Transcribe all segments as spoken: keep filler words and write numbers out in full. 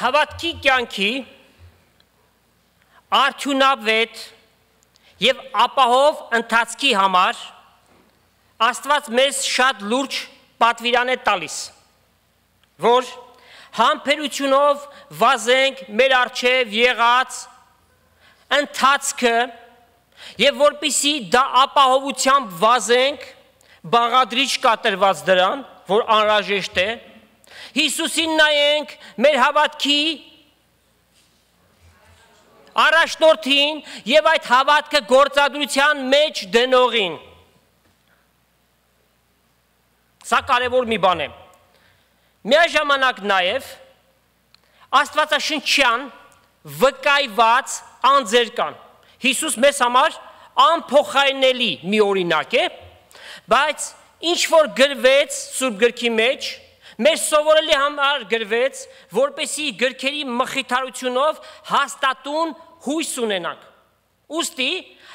հավատքի կյանքի արդյունավետ եւ ապահով ընթացքի համար Աստված մեզ շատ լուրջ պատվիրան է տալիս, որ համբերությունով վազենք մեր առջև եղած ընթացքը եւ որպիսի դա ապահովությամբ վազենք, բաղադրիչ կատարված դրան, որ անհրաժեշտ է, Հիսուսին նայենք մեր հավատքի առաջնորդին եւ այդ հավատքը գործադրության մեջ դնողին։ Սա կարևոր մի բան է։ Միաժամանակ նաեւ Աստվածաշնչյան վկայված անձեր կան։ Հիսուս մեզ համար անփոխարինելի մի օրինակ է, բայց ինչ որ գրվեց Սուրբ գրքի մեջ, մեր սովորելի համար գրվեց, որպեսի գրքերի մխիթարությունով հաստատուն հույս ունենանք։ Ուստի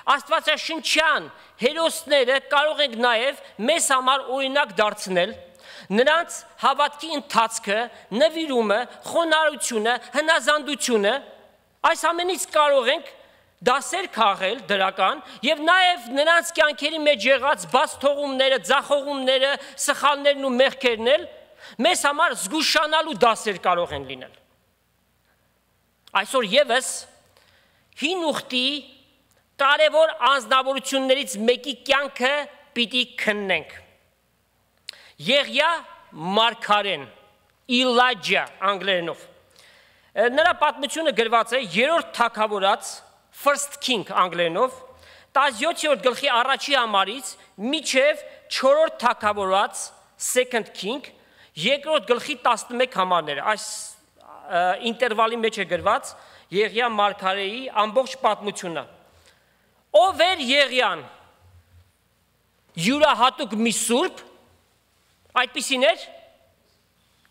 Աստվածաշնչյան հերոսները կարող ենք նաև մեզ համար օրինակ դարձնել, նրանց հավատքի ընթացքը, նվիրումը, խոնարհությունը, հնազանդությունը, այս ամենից կարող ենք դասեր քաղել դրական եւ նաեւ նրանց կյանքերի մեջ եղած բաց թողումները, ձախողումները, սխալներն ու մեղքերն էլ մեզ համար զգուշանալու դասեր կարող են լինել։ Այսօր եւս հին ուխտի կարևոր անձնավորություններից մեկի կյանքը պիտի քննենք։ Եղիա մարգարեն, Իլաջա անգլերենով։ Նրա պատմությունը գրված է երրորդ թագավորած First King անգլերենով, տասնյոթերորդ գլխի առաջի համարից մինչև չորրորդ թագավորած Second King, երկրորդ գլխի տասնմեկ համարները, այս ինտերվալի մեջ է գրված Եղիա մարգարեի ամբողջ պատմությունը։ Ով էր Եղիան, յուրահատուկ մի սուրբ, այդպիսին էր,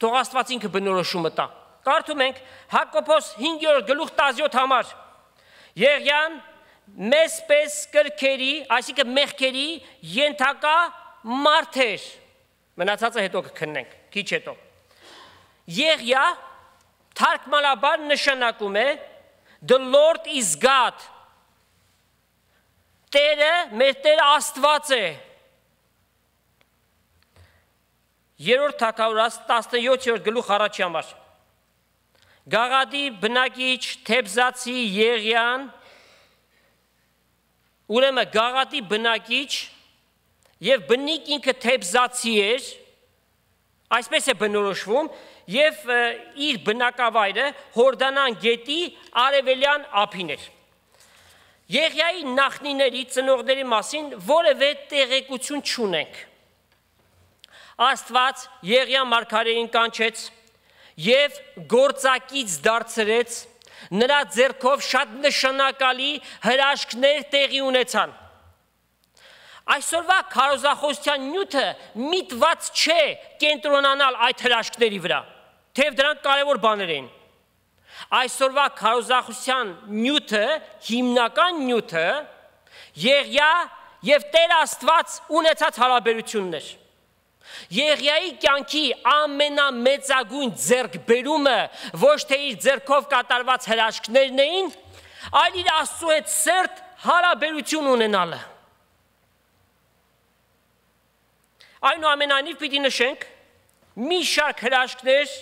թող Աստված ինքը բնորոշումը տա։ Կարդում ենք Հակոբոս հինգերորդ գլուխ տասնյոթ համար, Եղիան մեզ պես կրքերի, այսինքն մեղքերի ենթակա մարդ էր, մնացածը հետո կքննենք, քիչ հետո։ Եղիա թարգմանաբար նշանակում է The Lord is God, Տերը, մեր Տերը Աստված է։ Երրորդ թագավորած տասնյոթերորդ գլուխ առաջի համար։ Գաղադի բնակիչ Թեբզացի Եղիան, ուրեմն Գաղադի բնակիչ եւ բնիկ ինքը Թեբզացի էր, այսպես է բնորոշվում, եւ իր բնակավայրը Հորդանան գետի արևելյան ափին էր։ Եղիայի նախնիների ծնողների մասին որևէ տեղեկություն չունենք։ Աստված Եղիա մարգարեին կանչեց եւ գործակից դարձրեց, նրա ձեռքով շատ նշանակալի հրաշքներ տեղի ունեցան։ Այսօրվա քարոզախոսության նյութը միտված չէ կենտրոնանալ այդ հրաշքների վրա, թեև դրանք կարևոր բաներ են։ Այսօրվա քարոզախոսության նյութը, հիմնական նյութը Եղիա եւ Տեր Աստված ունեցած հարաբերություններ։ Եղիայի կյանքի ամենամեծագույն ձեռքբերումը ոչ թե իր ձեռքով կատարված հրաշքներն էին, այլ իր Աստծո հետ սերտ հարաբերություն ունենալը։ Այնուամենայնիվ պիտի նշենք մի շարք հրաշքներ,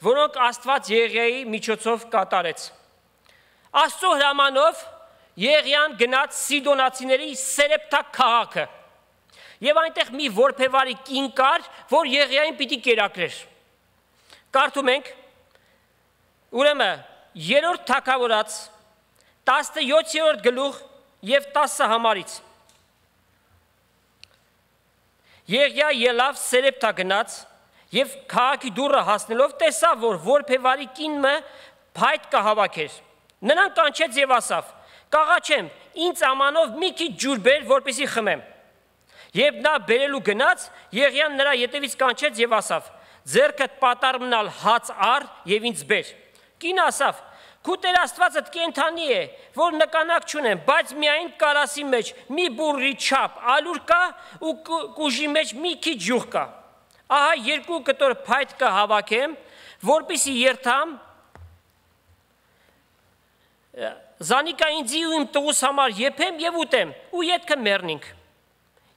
որոնք Աստված Եղիայի միջոցով կատարեց։ Աստծո հրամանով Եղիան գնաց Սիդոնացիների Սերեպթա քաղաքը։ Եվ այնտեղ մի որբևարի կին կար, որ Եղիային պիտի կերակրեր։ Կարդում ենք, ուրեմն երրորդ թագավորած տասնյոթերորդ գլուխ եւ տասը համարից։ Եղիա ելավ Սերեպթա գնաց եւ քաղաքի դուռը հասնելով տեսավ, որ որբևարի կինը փայտ կհավաքեր։ Նրան կանչեց եւ ասավ. «Կաղաչեմ, ինձ ամանով մի քիչ ջուր բեր, որպեսզի խմեմ»։ Եվ նա բերելու գնաց, Եղիան նրա ետևից կանչեց եւ ասավ. «Ձեռքդ պատառմնալ հաց առ եւ ինձ բեր»։ Կինը ասավ. «Քու Տեր Աստվածդ կենդանի է, որ նկանակ չունեմ, բայց միայն կարասի մեջ մի բուրրի չափ ալուր կա ու կուժի մեջ մի քիչ յուղ կա։ Ահա երկու կտոր փայտ կհավաքեմ, որպեսզի երթամ Զանիկա ինձի ու իմ տղուս համար եփեմ եւ ուտեմ ու ետքը մեռնինք։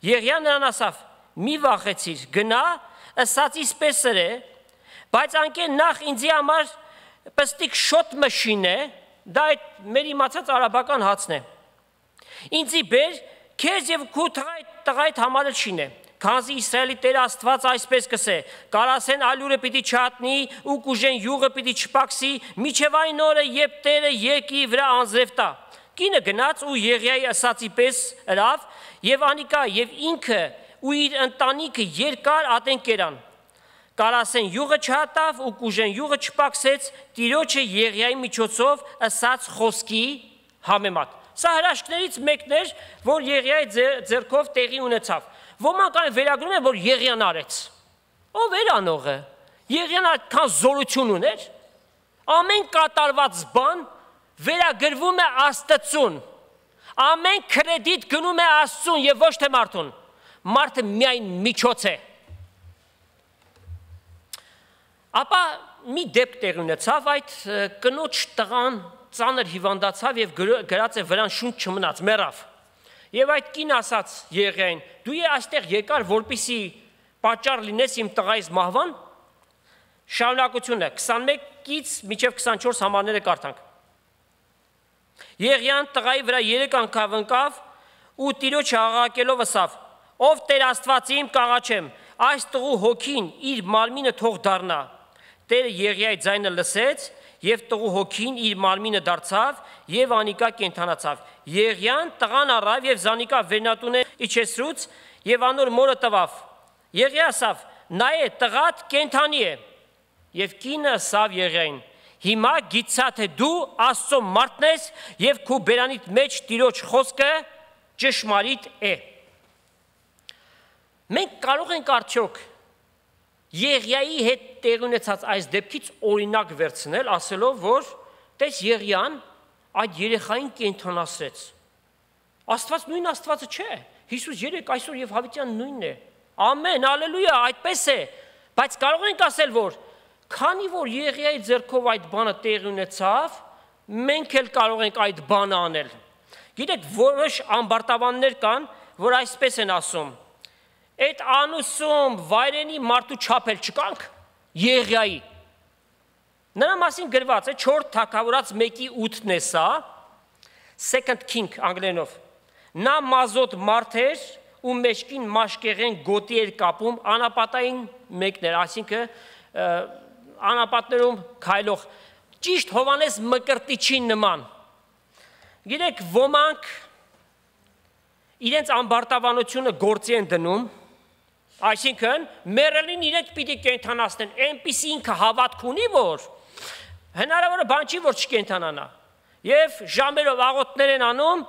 Եղիան նրան ասավ. մի վախեցիր, գնա, ըսածիս պես սրե, բայց անկեն նախ ինձի համար պստիկ շոտ մշին է, դա այդ մեր իմացած արաբական հացն է։ Ինձի բեր, քեզ եւ քու տղայդ համար շին է։ Քանզի Իսրայելի Տեր Աստված այսպես կսե. կարասեն ալյուրը պիտի չհատնի ու կուժեն յուղը պիտի չպակսի, միջև այն օրը, երբ Տերը երկրի վրա անձրև տա։ Կինը գնաց ու Եղիայի ասացի պես ըրավ եւ անիկա եւ ինքը ու իր ընտանիքը երկար ատեն կերան։ Կարասեն յուղը չհատավ ու կուժեն յուղը չպակսեց Տիրոջը Եղիայի միջոցով ասած խոսքի համեմատ։ Սա հրաշքներից մեկն էր, որ Եղիայի ձեռքով տեղի ունեցավ։ Ոմանք այն վերագրում են, որ Եղիան արեց։ Ով էր անողը։ Եղիան այդքան զորություն ուներ։ Ամեն կատարված բան վերագրվում է Աստծուն։ Ամեն կրեդիտ գնում է Աստծուն եւ ոչ թե մարդուն։ Մարդը միայն միջոց է։ Ապա մի դեպք տեղ ունեցավ, այդ կնոջ տղան ծանր հիվանդացավ եւ գրած է վրան շունչ չմնաց, մեռավ։ Եվ այդ կին ասաց Եղիային. դու է այստեղ եկար, որպեսզի պատճառ լինես իմ տղայիս մահվան։ Շարունակությունը քսանմեկից մինչև քսանչորս համարները կարդանք։ Եղիան տղայի վրա երեք անգամ ընկավ ու Տիրոջը աղաղակելով ասավ. ով Տեր Աստված իմ կաղաչեմ, այս տղու հոգին իր մարմինը թող դառնա։ Տերը Եղիայի ձայնը լսեց եւ տղու հոգին իր մարմինը դարձավ եւ անիկա կենթանացավ։ Եղիան տղան առավ եւ զանիկա վերնատունը իջեցրուց եւ անոր մորը տվավ։ Եղիա ասավ. նայե տղատ կենթանի է։ Եվ կինը ասավ Եղիային. հիմա գիտցա թե դու Աստծո մարդն ես եւ քու բերանիդ մեջ Տիրոջ խոսքը ճշմարիտ է։ Մենք կարող ենք արդյոք Եղիայի հետ տեղ ունեցած այս դեպքից օրինակ վերցնել, ասելով, որ տես Եղիան այդ երեխային կենթանացրեց։ Աստված նույն Աստվածը չէ։ Հիսուս երեք այսօր եւ հավիտյան նույնն է։ Ամեն, ալելույա, այդպես է։ Բայց կարող ենք ասել, որ քանի որ Եղիայի ձեռքով այդ բանը տեղ ունեցավ, մենք էլ կարող ենք այդ բանը անել։ Գիտեք, որոշ ամբարտավաններ կան, որ այսպես են ասում. Այդ անուսում վայրենի մարդու չափել չկանք Եղիայի։ Նրա մասին գրված է չորրորդ թագավորաց մեկի ութն է սա, Second King անգլերենով։ Նա մազոտ մարդ էր ու մեջքին մաշկեղեն գոտի էր կապում, անապատային մեկն էր, այսինքն անապատներում քայլող, ճիշտ Հովանես Մկրտիչի նման։ Գիտեք, ոմանք իրենց ամբարտավանությունը գործի են դնում, այսինքն մեռելին իրենք պիտի կենթանացնեն, այնպիսի ինքը հավատք ունի, որ հնարավոր է բան չի, որ չկենթանանա։ Եվ ժամերով աղոթներ են անում,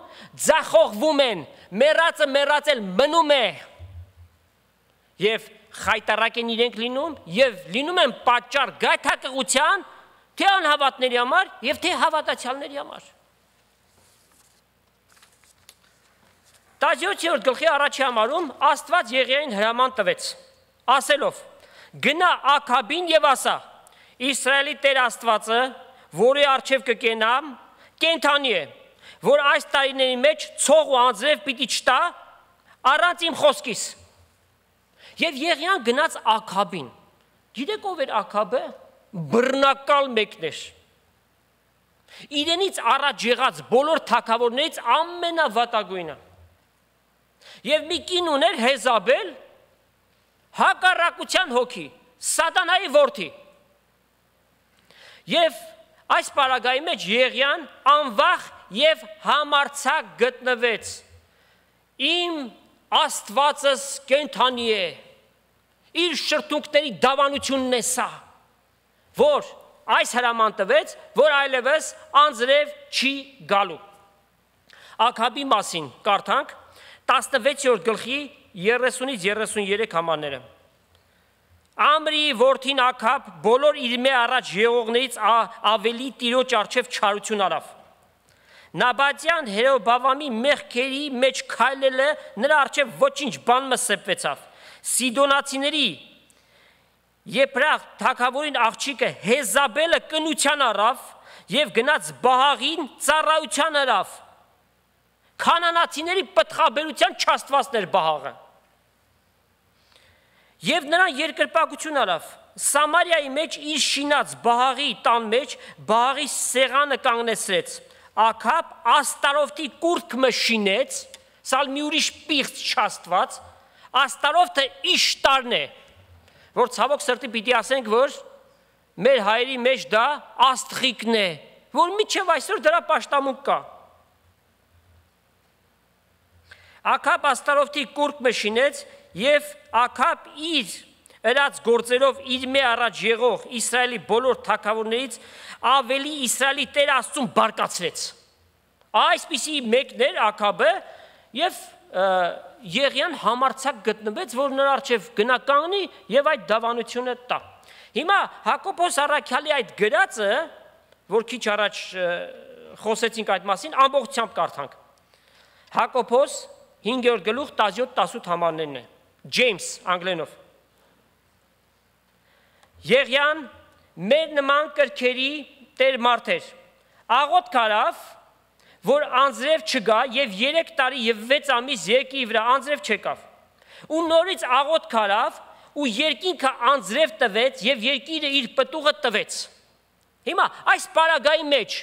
ձախողվում են, մեռածը մեռածել մնում է։ Եվ խայտարակ են իրենք լինում, եւ լինում են պատճառ գայթակղության թե անհավատների համար եւ թե հավատացյալների համար։ տասնյոթերորդ գլխի առաջի համարում Աստված Եղիային հրաման տվեց, ասելով. գնա Աքաբին եւ ասա. Իսրայելի Տեր Աստվածը, որի առջև կկենամ, կենթանի է, որ այս տարիների մեջ ցող ու անձրև պիտի չտա առանց իմ խոսքիս։ Եվ Եղիան գնաց Աքաբին։ Գիտեք ով էր Աքաբը։ Բռնակալ մեկն էր։ Իրենից առաջ եղած բոլոր թագավորներից ամենավատագույնը։ Եվ մի կին ուներ Հեզաբել, հակառակության հոգի, Սատանայի որդի։ Եվ այս պարագայի մեջ Եղիան անվախ եւ համարձակ գտնվեց։ Իմ Աստվածս կենթանի է։ Իր շրթունքների դավանությունն է սա, որ այս հրաման տվեց, որ այլևս անձրև չի գալու։ Աքաբի մասին կարդանք տասնվեցերորդ գլխի երեսունից երեսուներեք համարները։ Ամրիի որդին Աքաբ բոլոր իր մե առաջ եղողներից ավելի Տիրոջ առջև չարություն արավ։ Նաբատյան Հերոբավամի մեղքերի մեջ քայլելը նրա առջև ոչինչ բան մսեպվեցավ։ Սիդոնացիների Եփրախ թագավորին աղջիկը Հեզաբելը կնության առավ եւ գնաց Բահաղին ծառայության հրավ։ Քանանացիների պտղաբերության չաստվածներ Բահաղը։ Եվ նրան երկրպագություն արավ։ Սամարիայի մեջ իր շինած Բահաղի տան մեջ Բահաղի սեղանը կանգնեցրեց։ Աքաբ Աստարովտի կուրծքը շինեց, սա մի ուրիշ պիղծ չաստված, Աստարովտը Իշտարն է, որ ցավոք սրտի պիտի ասենք, որ մեր հայերի մեջ դա աստղիկն է, որ միջև այսօր դրա պաշտամունք կա։ Աքաբ Աստարովտի կուրծքը շինեց եւ Աքաբ իր ըրած գործերով իր մե առաջ եղող Իսրայելի բոլոր թագավորներից ավելի Իսրայելի Տեր Աստծուն բարկացրեց։ Այսպիսի մեկն էր Աքաբը եւ Եղիան համարցակ գտնվեց, որ նրա առջև գնա կանգնի եւ այդ դավանությունը տա։ Հիմա Հակոբոս առաքյալի այդ գրածը, որ քիչ առաջ խոսեցինք այդ մասին, ամբողջությամբ կարդանք։ Հակոբոս հինգերորդ գլուխ տասնյոթ տասնութ համարներն է։ Ջեյմս անգլերենով։ Եղիան մեր նման կրքերի տեր մարդ էր։ Աղոտ կարավ, որ անձրև չգա եւ երեք տարի եւ վեց ամիս եկի վրա անձրև չեկավ։ Ու նորից աղոտ կարավ ու երկինքը անձրև տվեց եւ երկիրը իր պտուղը տվեց։ Հիմա այս պարագայի մեջ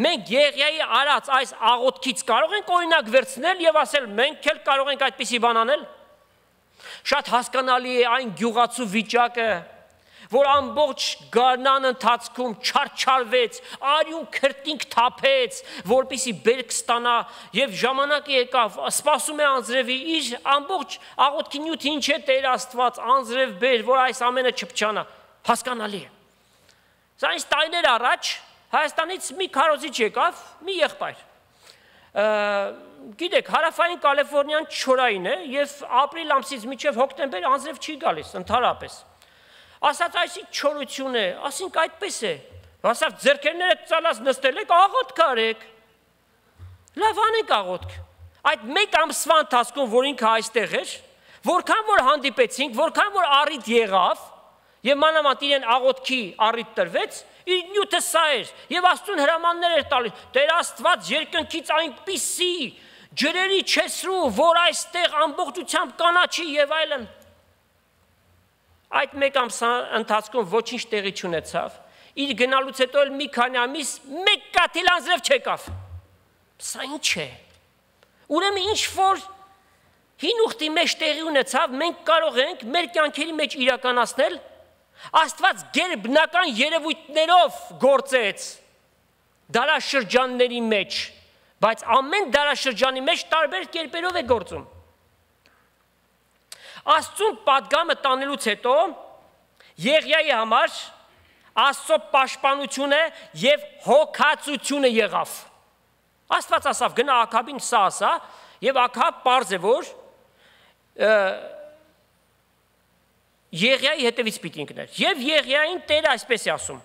մենք Եղիայի արած այս աղոթքից կարող ենք օրինակ վերցնել եւ ասել մենք էլ կարող ենք այդպիսի բան անել։ Շատ հասկանալի է այն գյուղացու վիճակը, որ ամբողջ գարնան ընթացքում չարչարվեց, արյուն քրտինք թափեց, որպեսի բերք ստանա եւ ժամանակը եկավ, սպասում է անձրևի, իր ամբողջ աղոթքի նյութը ինչ է Տեր Աստված, անձրև բեր, որ այս ամենը չփչանա, հասկանալի է։ Սա ինձ տարիներ առաջ Հայաստանից մի քարոզիչ եկավ, մի եղբայր։ Գիտեք, հարավային Կալիֆոռնիան չորային է եւ ապրիլ ամսից մինչեւ հոկտեմբեր անձրև չի գալիս ընդհանրապես։ Ասած այսի չորություն է, ասինք այդպես է։ Ասած ձեռքերները ծալած նստել եք, աղոթք արեք։ Լավ անեք աղոթք։ Այդ մեկ ամսվա ընթացքում, որ ինքը այստեղ էր, որքան որ հանդիպեցինք, որքան որ առիթ եղավ, եւ մանավանդ իրեն աղոթքի առիթ տրվեց, իր նյութը սա էր, եւ Աստծուն հրամաններ էր տալիս։ Տեր Աստված երկնքից այնպիսի ջրերի չեսրու, որ այստեղ ամբողջությամբ կանաչի եւ այլն։ Այդ մեկ ամսվա ընթացքում ոչինչ տեղի չունեցավ։ Իր գնալուց հետո էլ մի քանի ամիս մեկ կաթիլ անձրև չեկավ։ Սա ինչ է։ Ուրեմն ինչ որ հին ուխտի մեջ տեղի ունեցավ, մենք կարող ենք մեր կյանքերի մեջ իրականացնել, Աստված գերբնական երևույթներով գործեց դարաշրջանների մեջ, բայց ամեն դարաշրջանի մեջ տարբեր կերպերով է գործում։ Աստծուն պատգամը տանելուց հետո Եղիայի համար Աստծո պաշտպանությունը եւ հոգացությունը եղավ։ Աստված ասավ գնա Աքաբին սա ասա, եւ Աքաբ պարզ է որ Եղիայի հետևից պիտի ընկներ։ Եվ Եղիային Տերը այսպես է ասում.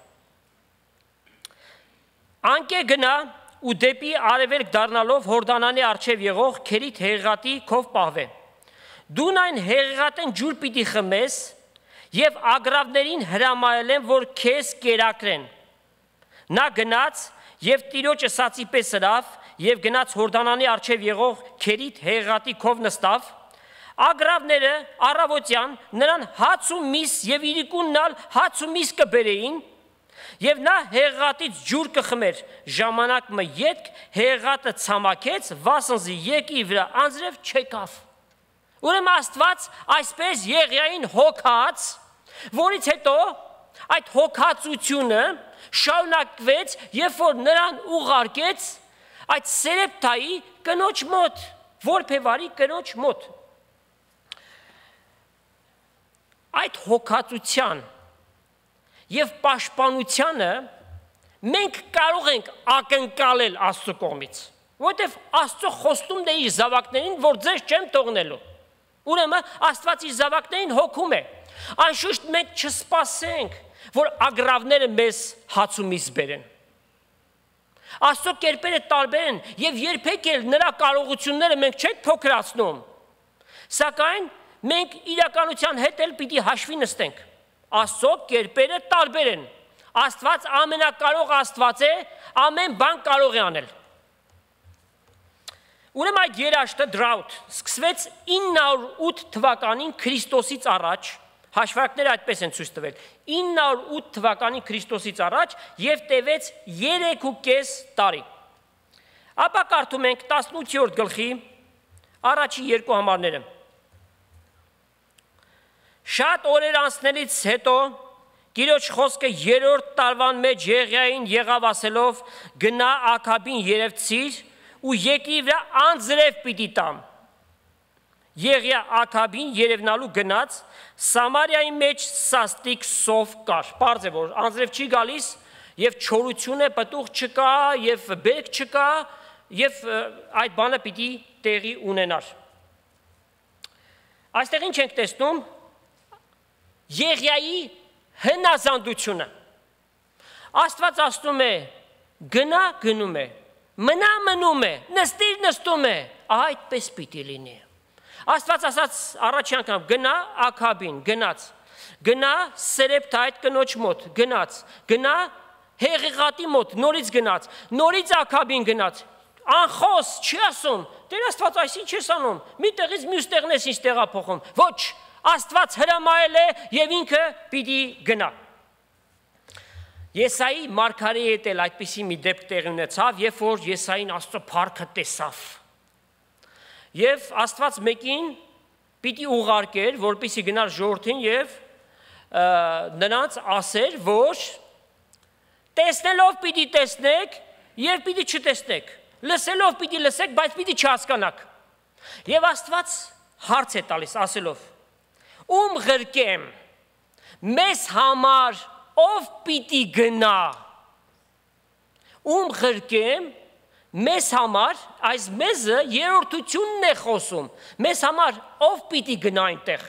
Անկե գնա ու դեպի արևելք դառնալով Հորդանանի առջև եղող Քերիթ հեղեղատի քով պահվե։ Դուն այն հեղեղատեն ջուր պիտի խմես եւ ագռավներին հրամայել են, որ քեզ կերակրեն։ Նա գնաց եւ Տիրոջ ըսածի պես հրավ եւ գնաց Հորդանանի առջև եղող Քերիթ հեղեղատի քով նստավ։ Ագռավները առավոտյան նրան հաց ու միս եւ իրիկուննալ հաց ու միս կբերեին եւ նա հեղեղատից ջուր կխմեր ժամանակ մը ետք հեղեղատը ցամաքեց վասնզի եկի վրա անձրև չեկավ։ Ուրեմն Աստված այսպես Եղիային հոգաց, որից հետո այդ հոգացությունը շարունակվեց, երբ որ նրան ուղարկեց այդ Սերեպտայի կնոջ մոտ, որբևարի կնոջ մոտ։ Այդ հոգացության եւ պաշտպանությանը մենք կարող ենք ակնկալել Աստծո կողմից, որովհետեւ Աստծո խոստումն է իր զավակներին, որ ձեզ չեմ թողնելու։ Ուրեմն Աստված իր զավակներին հոգում է։ Անշուշտ մենք չսպասենք, որ ագռավները մեզ հաց ու միս բերեն։ Աստծո կերպերը տարբեր են եւ երբեք էլ նրա կարողությունները մենք չենք փոքրացնում։ Սակայն մենք իրականության հետ էլ պիտի հաշվի նստենք։ Աստծո կերպերը տարբեր են։ Աստված ամենակարող Աստված է, ամեն բան կարող է անել։ Ուրեմն այդ երաշտը drought սկսվեց ինը հարյուր ութ թվականին Քրիստոսից առաջ, հաշվարկները այդպես են ցույց տվել, ինը հարյուր ութ թվականին Քրիստոսից առաջ եւ տևեց երեք ու կես տարի։ Ապա կարդում ենք տասնութերորդ գլխի առաջի երկու համարները։ Շատ օրեր անցնելից հետո Տիրոջ խոսքը երրորդ տարվան մեջ Եղիային եղավ ասելով. գնա Աքաբին երևցիր ու երկրի վրա անձրև պիտի տամ։ Եղիա Աքաբին երևնալու գնաց, Սամարիայի մեջ սաստիկ սով կար։ Պարզ է, որ անձրև չի գալիս, եւ չորություն է, պտուղ չկա, եւ բերք չկա, եւ այդ բանը պիտի տեղի ունենար։ Այստեղ ինչ ենք տեսնում։ Եղիայի հնազանդությունը։ Աստված ասում է, գնա գնում է, մնա մնում է, նստիր նստում է, այդպես պիտի լինի։ Աստված ասաց առաջի անգամ գնա Աքաբին, գնաց, գնա Սերեպթա այդ կնոջ մոտ, գնաց, գնա Հեղեղատի մոտ, նորից գնաց, նորից Աքաբին գնաց, անխոս չի ասում, Տեր Աստված այսինչ չես անում, մի տեղից մյուս տեղն ես ինձ տեղափոխում, ոչ, Աստված հրամայել է եւ ինքը պիտի գնա։ Եսայի մարգարեի հետ էլ այդպիսի մի դեպք տեղի ունեցավ, երբ որ Եսային Աստծո փառքը տեսավ։ Եվ Աստված մեկին պիտի ուղարկեր, որպեսզի գնար ժողովրդին եւ նրանց ասեր, որ տեսնելով պիտի տեսնեք եւ պիտի չտեսնեք, լսելով պիտի լսեք, բայց պիտի չհասկանաք։ Եվ Աստված հարց է տալիս ասելով. Ում ղրկեմ, մեզ համար ով պիտի գնա, ում ղրկեմ, մեզ համար, այս մեզը երրորդությունն է խոսում, մեզ համար ով պիտի գնա այնտեղ։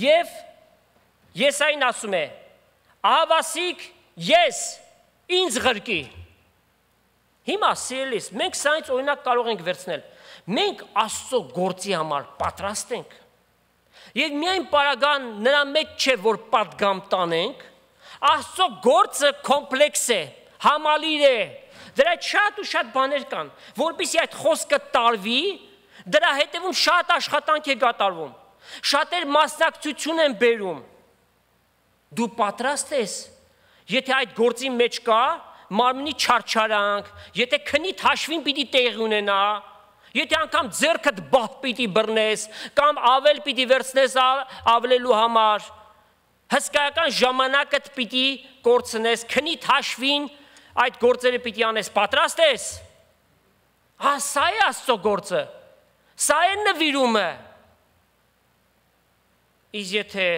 Եվ Եսային ասում է, ահավասիկ ես, ինձ ղրկի։ Հիմա սիրելիս, մենք սրանից օրինակ կարող ենք վերցնել, մենք Աստծո գործի համար պատրաստ ենք։ Եվ միայն պարագան նրա մեջ չէ, որ պատգամ տանենք, Աստծո գործը կոմպլեքս է, համալիր է, դրա շատ ու շատ բաներ կան, որպեսզի այդ խոսքը տարվի, դրա հետևում շատ աշխատանք է կատարվում, շատեր մասնակցություն են բերում։ Դու պատրաստ ես, եթե այդ գործի մեջ կա մարմնի չարչարանք, եթե քնիդ հաշվին պիտի տեղի ունենա, եթե անգամ ձեռքդ բահ պիտի բռնես, կամ ավել պիտի վերցնես ավլելու համար, հսկայական ժամանակդ պիտի կորցնես, քնիդ հաշվին այդ գործերը պիտի անես, պատրաստ ես։ Հա, սա է Աստծո գործը, սա է նվիրումը։ Իսկ եթե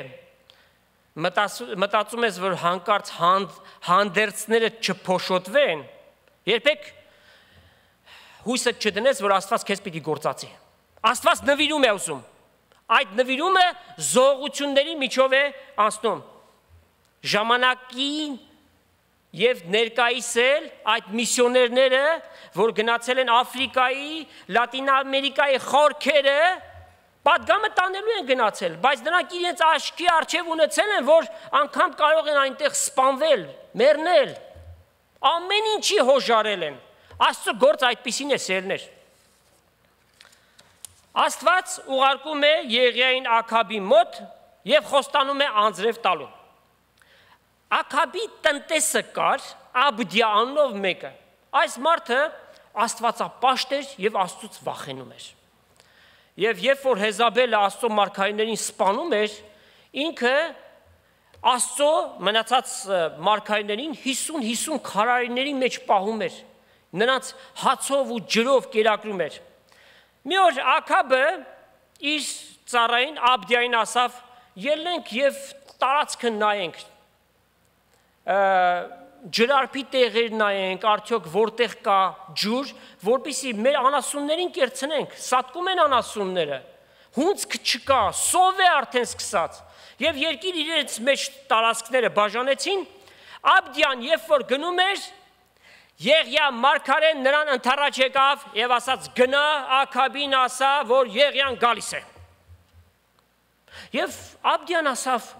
մտածում ես, որ հանկարծ հանդերձները չփոշոտվեն, երբեք հույսը չդնես, որ Աստված քեզ պիտի գործածի։ Աստված նվիրում է ուզում։ Այդ նվիրումը զողությունների միջով է անցնում։ Ժամանակին եւ ներկայիս էլ այդ միսիոներները, որ գնացել են Աֆրիկայի, Լատին Ամերիկայի խորքերը, պատգամը տանելու են գնացել, բայց նրանք իրենց աչքի առջև ունեցել են, որ անգամ կարող են այնտեղ սպանվել, մեռնել, ամեն ինչի հոժարել են։ Աստծո գործը այդպիսին է, սերներ։ Աստված ուղարկում է Եղիային Աքաբի մոտ եւ խոստանում է անձրև տալու։ Աքաբի տնտեսը կար Աբդիա անունով մեկը։ Այս մարդը աստվածապաշտ էր եւ Աստծուց վախենում էր։ Եվ երբ որ Հեզաբելը Աստծո մարգարեներին սպանում էր, ինքը Աստծո մնացած մարգարեներին հիսուն հիսուն քարայրների մեջ պահում էր, նրանց հացով ու ջրով կերակրում էր։ Մի օր Աքաբը իր ծառային Աբդիային ասավ. ելնենք եւ տարածքը նայենք, ջրարփի տեղեր նայենք, արդյոք որտեղ կա ջուր, որպեսզի մեր անասուններին կերցնենք, սատկում են անասունները, հունձք չկա, սով է արդեն սկսած, եւ երկիր իրենց մեջ տարածքները բաժանեցին, Աբդիան երբ որ գնում էր, Եղիա մարգարեն նրան ընդառաջ եկավ եւ ասաց գնա Աքաբին ասա, որ Եղիան գալիս է։ Եվ Աբդիան ասավ,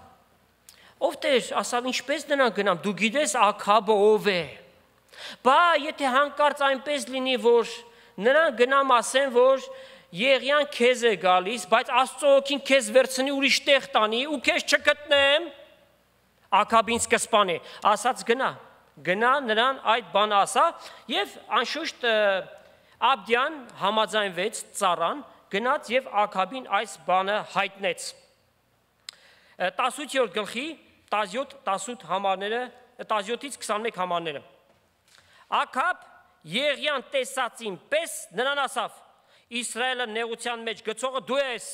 Ով Տեր, ասավ, ինչպես նրան գնամ, դու գիտես Աքաբը ով է։ Բա եթե հանկարծ այնպես լինի, որ նրան գնամ ասեմ, որ Եղիան քեզ է գալիս, բայց Աստծո ոգին քեզ վերցնի ուրիշ տեղ տանի ու քեզ չգտնեմ, Աքաբին սկսպանի, ասաց գնա, գնա նրան այդ բանը ասա, եւ անշուշտ Աբդյան համաձայնվեց ծառան, գնաց եւ Աքաբին այս բանը հայտնեց։ տասնութ գլխի տասնյոթ տասնութ համարները, տասնյոթից քսանմեկ համարները։ Աքաբ Եղիան տեսածին պես նրան ասավ. Իսրայելը նեղության մեջ գցողը դու ես։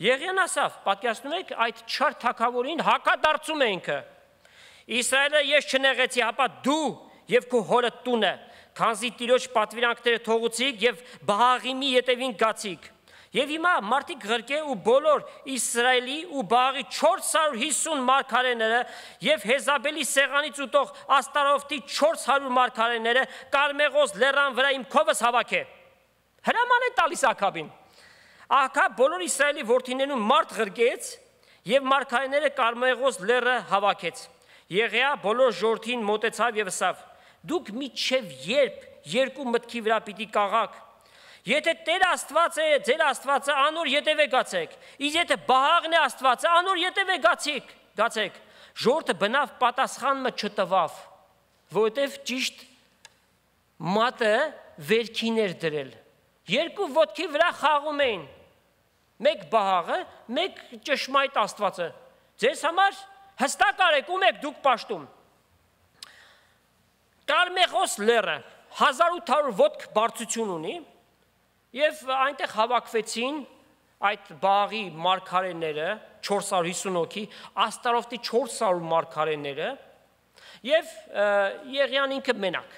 Եղիան ասավ, պատկերացնում եք, այդ չար թագավորին հակադարձում է ինքը։ Իսրայելը ես չնեղեցի, հապա դու եւ քո հորը տունը, քանզի Տիրոջ պատվիրանքները թողուցիք եւ Բաղիմի ետևին գացիք։ Եվ հիմա մարդիկ ղրկե ու բոլոր Իսրայելի ու Բաղի չորս հարյուր հիսուն մարգարեները եւ Հեզաբելի սեղանից ուտող Աստարոֆտի չորս հարյուր մարգարեները Կարմեղոս լեռան վրա իմ քովս հավաքե։ Հրաման է տալիս Աքաբին։ Աքաբ բոլոր Իսրայելի որդիներուն մարդ ղրկեց եւ մարգարեները Կարմեղոս լեռը հավաքեց։ Եղիա բոլոր ժողովրդին մոտեցավ եւ ասավ. Դուք միչև երբ երկու մտքի վրա պիտի կաղաք։ Եթե Տեր Աստված է, ձեր Աստվածը անոր ետևե գացեք, իսկ եթե Բաղն է Աստվածը, անոր ետևե գացեք, գացեք։ Ժողովուրդը բնավ պատասխանը չտվավ, որովհետև ճիշտ մատը վերքին էր դրել։ Երկու ոտքի վրա խաղում էին։ Մեկ Բաղը, մեկ ճշմարիտ Աստվածը։ Ձեզ համար հստակ արեք, ում եք դուք պաշտում։ Կարմեղոս լեռը հազար ութ հարյուր ոտք բարձրություն ունի։ Եվ այնտեղ հավաքվեցին այդ Բաղի մարգարեները, չորս հարյուր հիսուն հոգի, Աստարոֆտի չորս հարյուր մարգարեները, եւ Եղիան ինքը մենակ։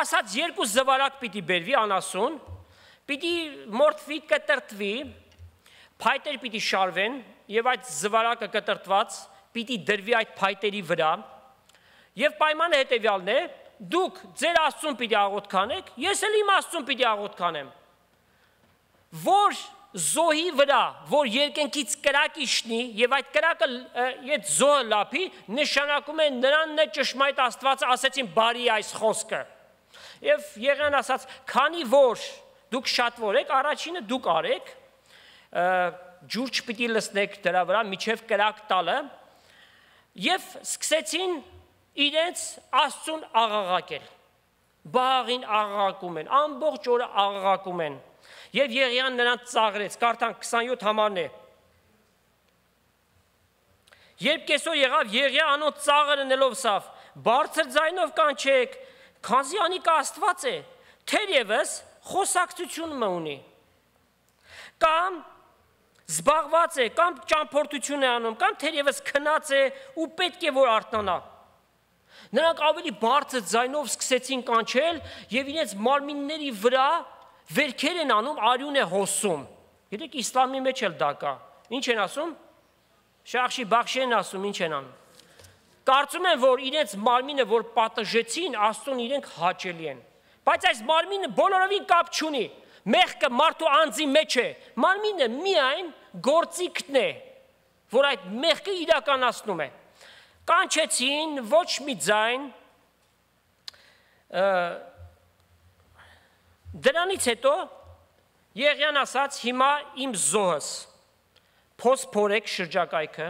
Ասաց երկու զվարակ պիտի բերվի անասուն, պիտի մորթվի, կտրտվի, փայտեր պիտի շարվեն, եւ այդ զվարակը կտրտված պիտի դրվի այդ փայտերի վրա, եւ պայմանը հետեւյալն է. դուք ձեր Աստծուն պիտի աղոթ կանեք, ես էլ իմ Աստծուն պիտի աղոթ կանեմ։ Որ զոհի վրա, որ երկնքից կրակ իշնի եւ այդ կրակը այդ զոհը լափի, նշանակում է նրանն է ճշմարիտ Աստվածը, ասեցին բարի այս խոսքը։ Եվ Եղիան ասաց, քանի որ դուք շատվոր եք, առաջինը դուք արեք, ջուր չպիտի լցնեք դրա վրա միջև կրակ տալը, եւ սկսեցին իրենց Աստծուն աղաղակել։ Բաղին աղաղակում են, ամբողջ օրը աղաղակում են։ Եվ Եղիան նրանց ծաղրեց, կարդանք քսանյոթ համարն է։ Երբ կեսօր եղավ, Եղիա անոնց ծաղրը նելով սավ, բարձր ձայնով կանչեք, քանզի անիկա Աստված է, թերևս խոսակցություն մը ունի։ Կամ զբաղված է, կամ ճամփորդություն է անում, կամ թերևս քնած է ու պետք է որ արթնանա։ Նրանք ավելի բարձր ձայնով սկսեցին կանչել եւ իրենց մարմինների վրա վերքեր են անում, արյուն է հոսում։ Գիտեք, իսլամի մեջ էլ դա կա։ Ինչ են ասում։ Շախշի բախշի են ասում, ինչ են անում։ Կարծում են, որ իրենց մարմինը, որ պատժեցին, Աստծուն իրենք հաճելի են։ Բայց այս մարմինը բոլորովին կապ չունի։ Մեղքը մարդու անձի մեջ է։ Մարմինը միայն գործիքն է, որ այդ մեղքը իրականացնում է։ Կանչեցին ոչ մի ձայն, դրանից հետո Եղիան ասաց, հիմա իմ զոհս, փոս փորեք շրջակայքը,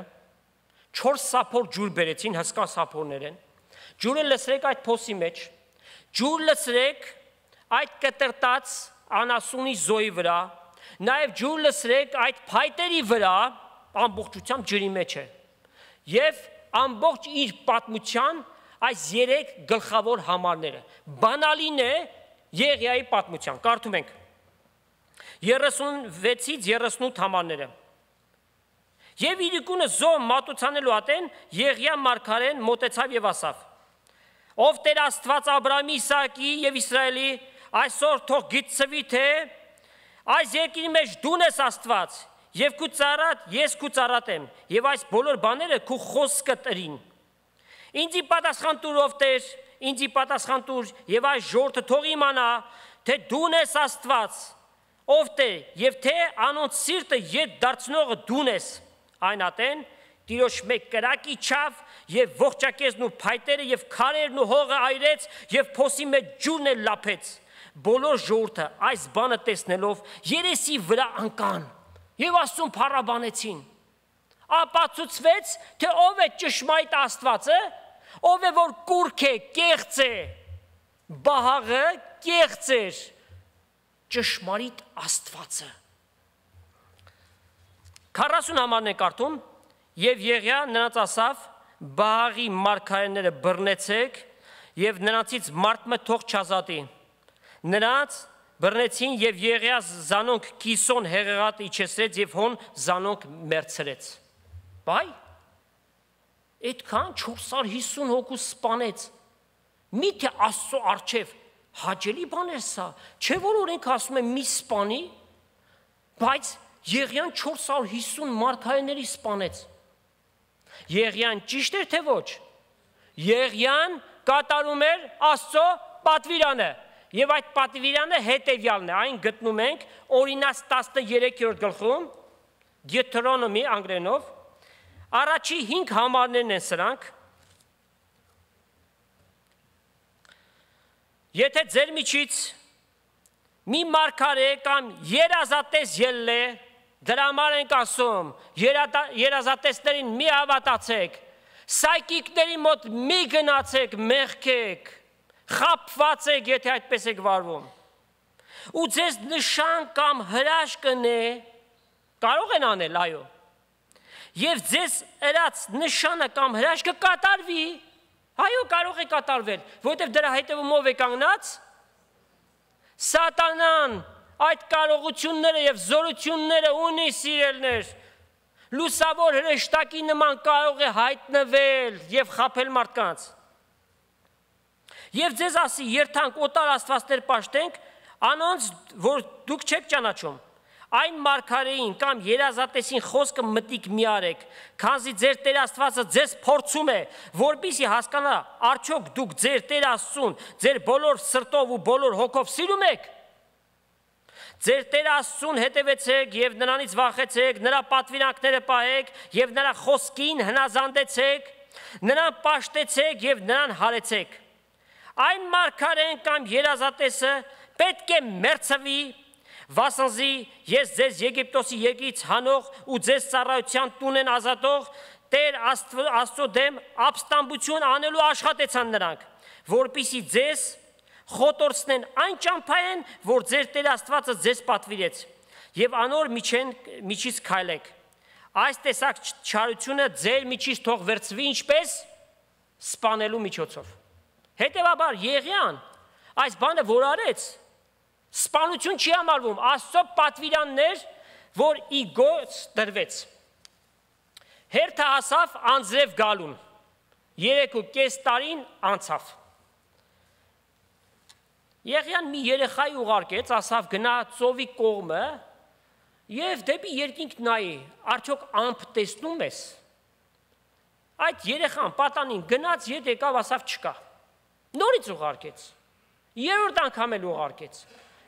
չորս սափոր ջուր բերեցին, հսկա սափորներ են, ջուրը լցրեք այդ փոսի մեջ, ջուր լցրեք այդ կտրտած անասունի զոհի վրա, նաև ջուր լցրեք այդ փայտերի վրա, ամբողջությամբ ջրի մեջ է, եւ ամբողջ իր պատմության այս երեք գլխավոր համարները։ Բանալին է Եղիայի պատմության, կարդում ենք երեսունվեցից երեսունութ համարները։ Եվ իրիկունը զոհ մատուցանելու ատեն Եղիա մարգարեն մոտեցավ եւ ասավ. Ով Տեր Աստված Աբրահամի, Իսահակի եւ Իսրայելի, այսօր թող գիտցվի թե այս երկրի մեջ դուն ես Աստված, եւ քու ծառատ, ես քու ծառատ եմ, եւ այս բոլոր բաները քու խոսքը տրին։ Ինձի պատասխան տուր, ով Տեր, ինձի պատասխան տուր, եւ այս ժողովուրդը թող իմանա, թե դուն ես Աստված, ով Տեր, եւ թե անոնց սիրտը ետ դարձնողը դուն ես։ Այն ատեն Տիրոջ մեկ կրակի չավ եւ ողջակեզն ու փայտերը եւ քարերն ու հողը այրեց եւ փոսի մեջ ջուրն էլ լափեց։ Բոլոր ժողովուրդը այս բանը տեսնելով երեսի վրա ընկան եւ Աստծուն փառաբանեցին։ Ապացուցվեց, թե ով է ճշմարիտ Աստվածը, ով է որ կուրք է, կեղծ է, բահաղը կեղծ էր, ճշմարիտ Աստվածը։ քառասուն համարն է կարդում, եւ Եղիա նրանց ասավ. Բահաղի մարգարեները բռնեցեք եւ նրանցից մարդը թող չազատի։ Նրանց բռնեցին եւ Եղիա զանոնք Կիսոն հեղեղատ իջեցրեց եւ հոն զանոնք մերցրեց։ Բայ այդքան չորս հարյուր հիսուն հոգու սպանեց։ Միթե Աստծո արչև հաճելի բան է սա, չէ՞ որ օրենք ասում են մի սպանի, բայց Եղիան չորս հարյուր հիսուն մարգարեների սպանեց։ Եղիան ճիշտ էր թե ոչ։ Եղիան կատարում էր Աստծո պատվիրանը, եւ այդ պատվիրանը հետեւյալն է, այն գտնում ենք Օրինաց տասներեքերորդ գլխում, Deuteronomy անգլերենով, առաջի հինգ համարներն են սրանք։ Եթե ձեր միջից մի մարգարե կամ երազատես ելլե, դրա համար ենք ասում, երազատեսներին մի հավատացեք, սայկիկների մոտ մի գնացեք, մեղքեք, խաբված եք, եթե այդպես եք վարվում։ Ու ձեզ նշան կամ հրաշք կնե, կարող են անել, այո։ Եվ ձեզ ըրած նշանը կամ հրաշքը կատարվի, այո, կարող է կատարվել, որովհետև դրա հետևում ով է կանգնած։ Սատանան այդ կարողությունները եւ զորությունները ունի, սիրելներ, լուսավոր հրեշտակի նման կարող է հայտնվել եւ խաբել մարդկանց։ Եվ ձեզ ասի, երթանք օտար աստվածներ պաշտենք, անոնց, որ դուք չեք ճանաչում, այն մարգարեին կամ երազատեսին խոսքը մտիկ մի արեք, քանզի ձեր Տեր Աստվածը ձեզ փորձում է, որպեսզի հասկանա, արդյոք դուք ձեր Տեր Աստծուն, ձեր բոլոր սրտով ու բոլոր հոգով սիրում եք։ Ձեր Տեր Աստծուն հետևեցեք եւ նրանից վախեցեք, նրա պատվիրանքները պահեք եւ նրա խոսքին հնազանդեցեք, նրան պաշտեցեք եւ նրան հարեցեք։ Այն մարգարեն կամ երազատեսը պետք է մերձվի, վասնզի ես ձեզ Եգիպտոսի եկից հանող ու ձեզ ծառայության տունեն ազատող Տեր Աստծո դեմ ապստամբություն անելու աշխատեցան նրանք, որպեսզի ձեզ խոտորցնեն այն ճամփային, որ ձեր Տեր Աստվածը ձեզ պատվիրեց, եւ անոր միջեն միջից քայլեք։ Այս տեսակ չարությունը ձեր միջից թող վերցվի ինչպես սպանելու միջոցով։ Հետևաբար Եղիան այս բանը որ արեց, սպանություն չի համարվում, Աստծո պատվիրաններ, որ ի գործ դրվեց։ Հերթը հասավ անձրև գալուն, երեք ու կես տարին անցավ։ Եղիան մի երեխայի ուղարկեց, ասավ գնա ծովի կողմը եւ դեպի երկինք նայի, արդյոք ամփ տեսնում ես։ Այդ երեխան պատանին գնաց, ետ եկավ, ասավ չկա։ Նորից ուղարկեց։ Երրորդ անգամ էլ ուղարկեց։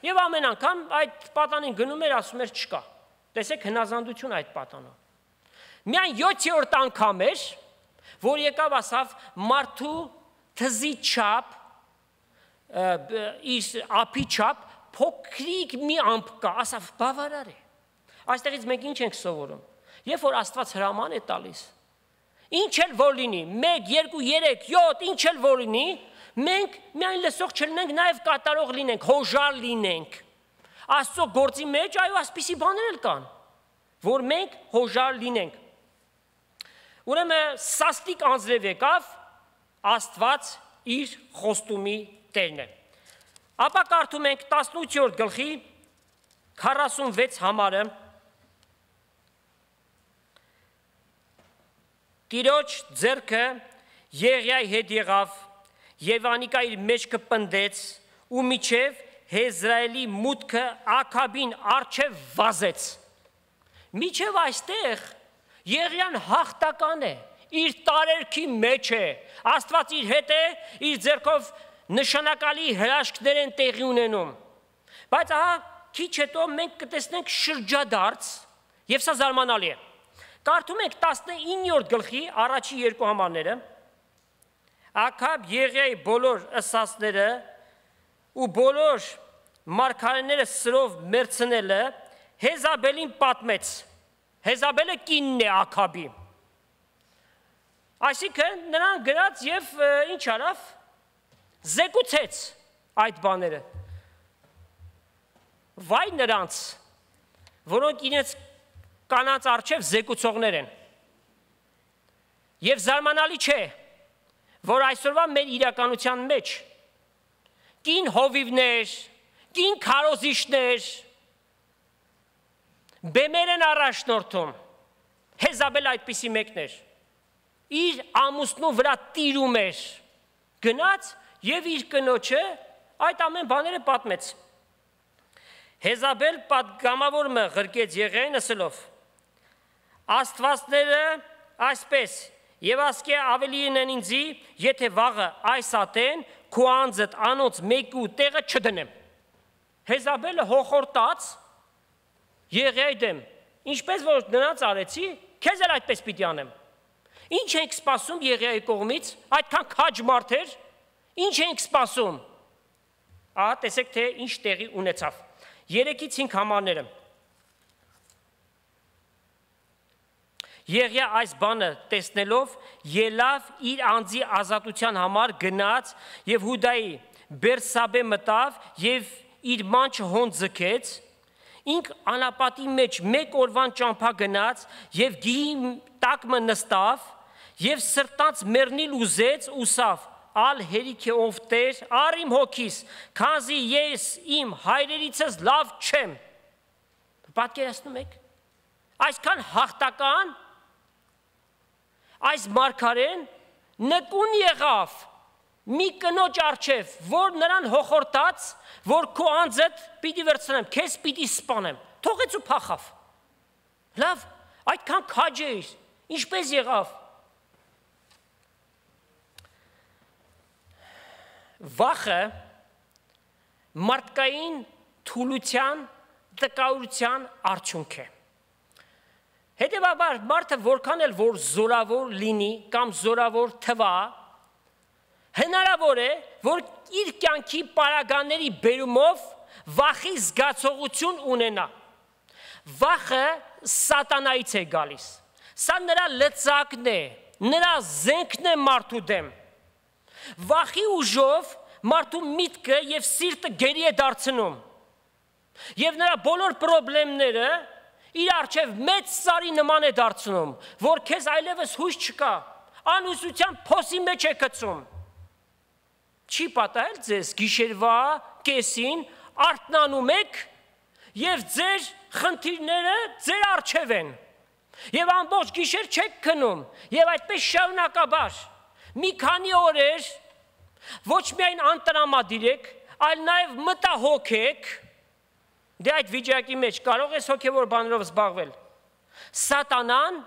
Եվ ամեն անգամ այդ պատանին գնում էր, ասում էր չկա։ Տեսեք հնազանդություն այդ պատանով։ Միայն յոթերորդ անգամ էր, որ եկավ, ասավ մարդու թզի չափ իր ափի չափ փոքրիկ մի ամփ կա, ասավ բավարար է։ Այստեղից մենք ինչ ենք սովորում։ Երբ որ Աստված հրաման է տալիս, ինչ էլ որ լինի, մեկ, երկու, երեք, յոթ, ինչ էլ որ լինի, մենք միայն լսող չլինենք, նաև կատարող լինենք, հոժար լինենք։ Աստծո գործի մեջ այո այսպիսի բաներ էլ կան, որ մենք հոժար լինենք։ Ուրեմն սաստիկ անձրև եկավ, Աստված իր խոստումի Տերն է։ Ապա կարդում ենք տասնութերորդ գլխի քառասունվեց համարը։ Տիրոջ ձեռքը Եղիայի հետ եղավ եւ անիկա իր մեջքը պնդեց ու միջև Հեզրայելի մուտքը Աքաբին արչև վազեց։ Միջև այստեղ Եղիան հաղթական է, իր տարերքի մեջ է, Աստված իր հետ է, իր ձեռքով նշանակալի հրաշքներ են տեղի ունենում։ Բայց ահա քիչ հետո մենք կտեսնենք շրջադարձ, եւ սա զարմանալի է։ Կարդում ենք տասնիններորդ գլխի առաջի երկու համարները, Աքաբ Եղիայի բոլոր ըսածները ու բոլոր մարգարեները սրով մերցնելը Հեզաբելին պատմեց։ Հեզաբելը կինն է Աքաբի։ Այսինքն նրան գրած եւ ինչ արավ, զեկուցեց այդ բաները։ Վայ նրանց, որոնք իրենց կանանց առջև զեկուցողներ են։ Եվ զարմանալի չէ, որ այսօրվա մեր իրականության մեջ կին հովիվներ, կին քարոզիչներ բեմեր են առաջնորդում։ Հեզաբել այդպիսի մեկն էր։ Իր ամուսնու վրա տիրում էր, գնաց եւ իր կնոջը այդ ամեն բաները պատմեց։ Հեզաբել պատգամավորը ղրկեց Եղիային ասելով. Աստվածները այսպես եւ ասկե ավելին են ինձի, եթե վաղը այս ատեն քո անձդ անոց մեկու տեղը չդնեմ։ Հեզաբելը հոխորտաց Եղիայի դեմ, ինչպես որ նրանց արեցի, քեզ էլ այդպես պիտի անեմ։ Ինչ ենք սպասում Եղիայի կողմից, այդքան քաջ մարդ էր, ինչ ենք սպասում։ Ահա տեսեք թե ինչ տեղի ունեցավ։ Երեքից հինգ համարները։ Եղիա այս բանը տեսնելով ելավ իր անձի ազատության համար գնաց եւ Հուդայի Բերսաբե մտավ եւ իր մանչը հոն ձգեց, ինք անապատի մեջ մեկ օրվան ճամփա գնաց եւ գիհի տակը նստավ եւ սրտանց մեռնիլ ուզեց ուսավ ալ հերիք է ով Տեր առ իմ հոգիս քանզի ես իմ հայրերիցս լավ չեմ։ Պատկերացնում եք այսքան հաղթական այս մարգարեն նկուն եղավ մի կնոջ առջև, որ նրան հոխորտաց, որ քո անձդ պիտի վերցնեմ, քեզ պիտի սպանեմ, թողեց ու փախավ։ Լավ, այդքան քաջ էր, ինչպես եղավ։ Վախը մարդկային թուլության, տկարության արդյունք է։ Հետևաբար մարդը որքան էլ որ զորավոր լինի կամ զորավոր թվա, հնարավոր է, որ իր կյանքի պարագաների բերումով վախի զգացողություն ունենա։ Վախը սատանայից է գալիս։ Սա նրա լծակն է, նրա զենքն է մարդու դեմ։ Վախի ուժով մարդու միտքը եւ սիրտը գերի է դարձնում։ Եվ նրա բոլոր խնդիրները իր առջև մեծ սարի նման է դարձնում, որ քեզ այլևս հույս չկա, անհուսության փոսի մեջ է գցում։ Չի պատահել ձեզ գիշերվա կեսին արթնանում եք եւ ձեր խնդիրները ձեր առջև են։ Եվ ամբողջ գիշեր չեք քնում, եւ այդպես շարունակաբար։ Մի քանի օրեր ոչ միայն անտրամադիր եք, այլ նաեւ մտահոգ եք։ Դե այդ վիճակի մեջ կարող ես հոգևոր բաներով զբաղվել։ Սատանան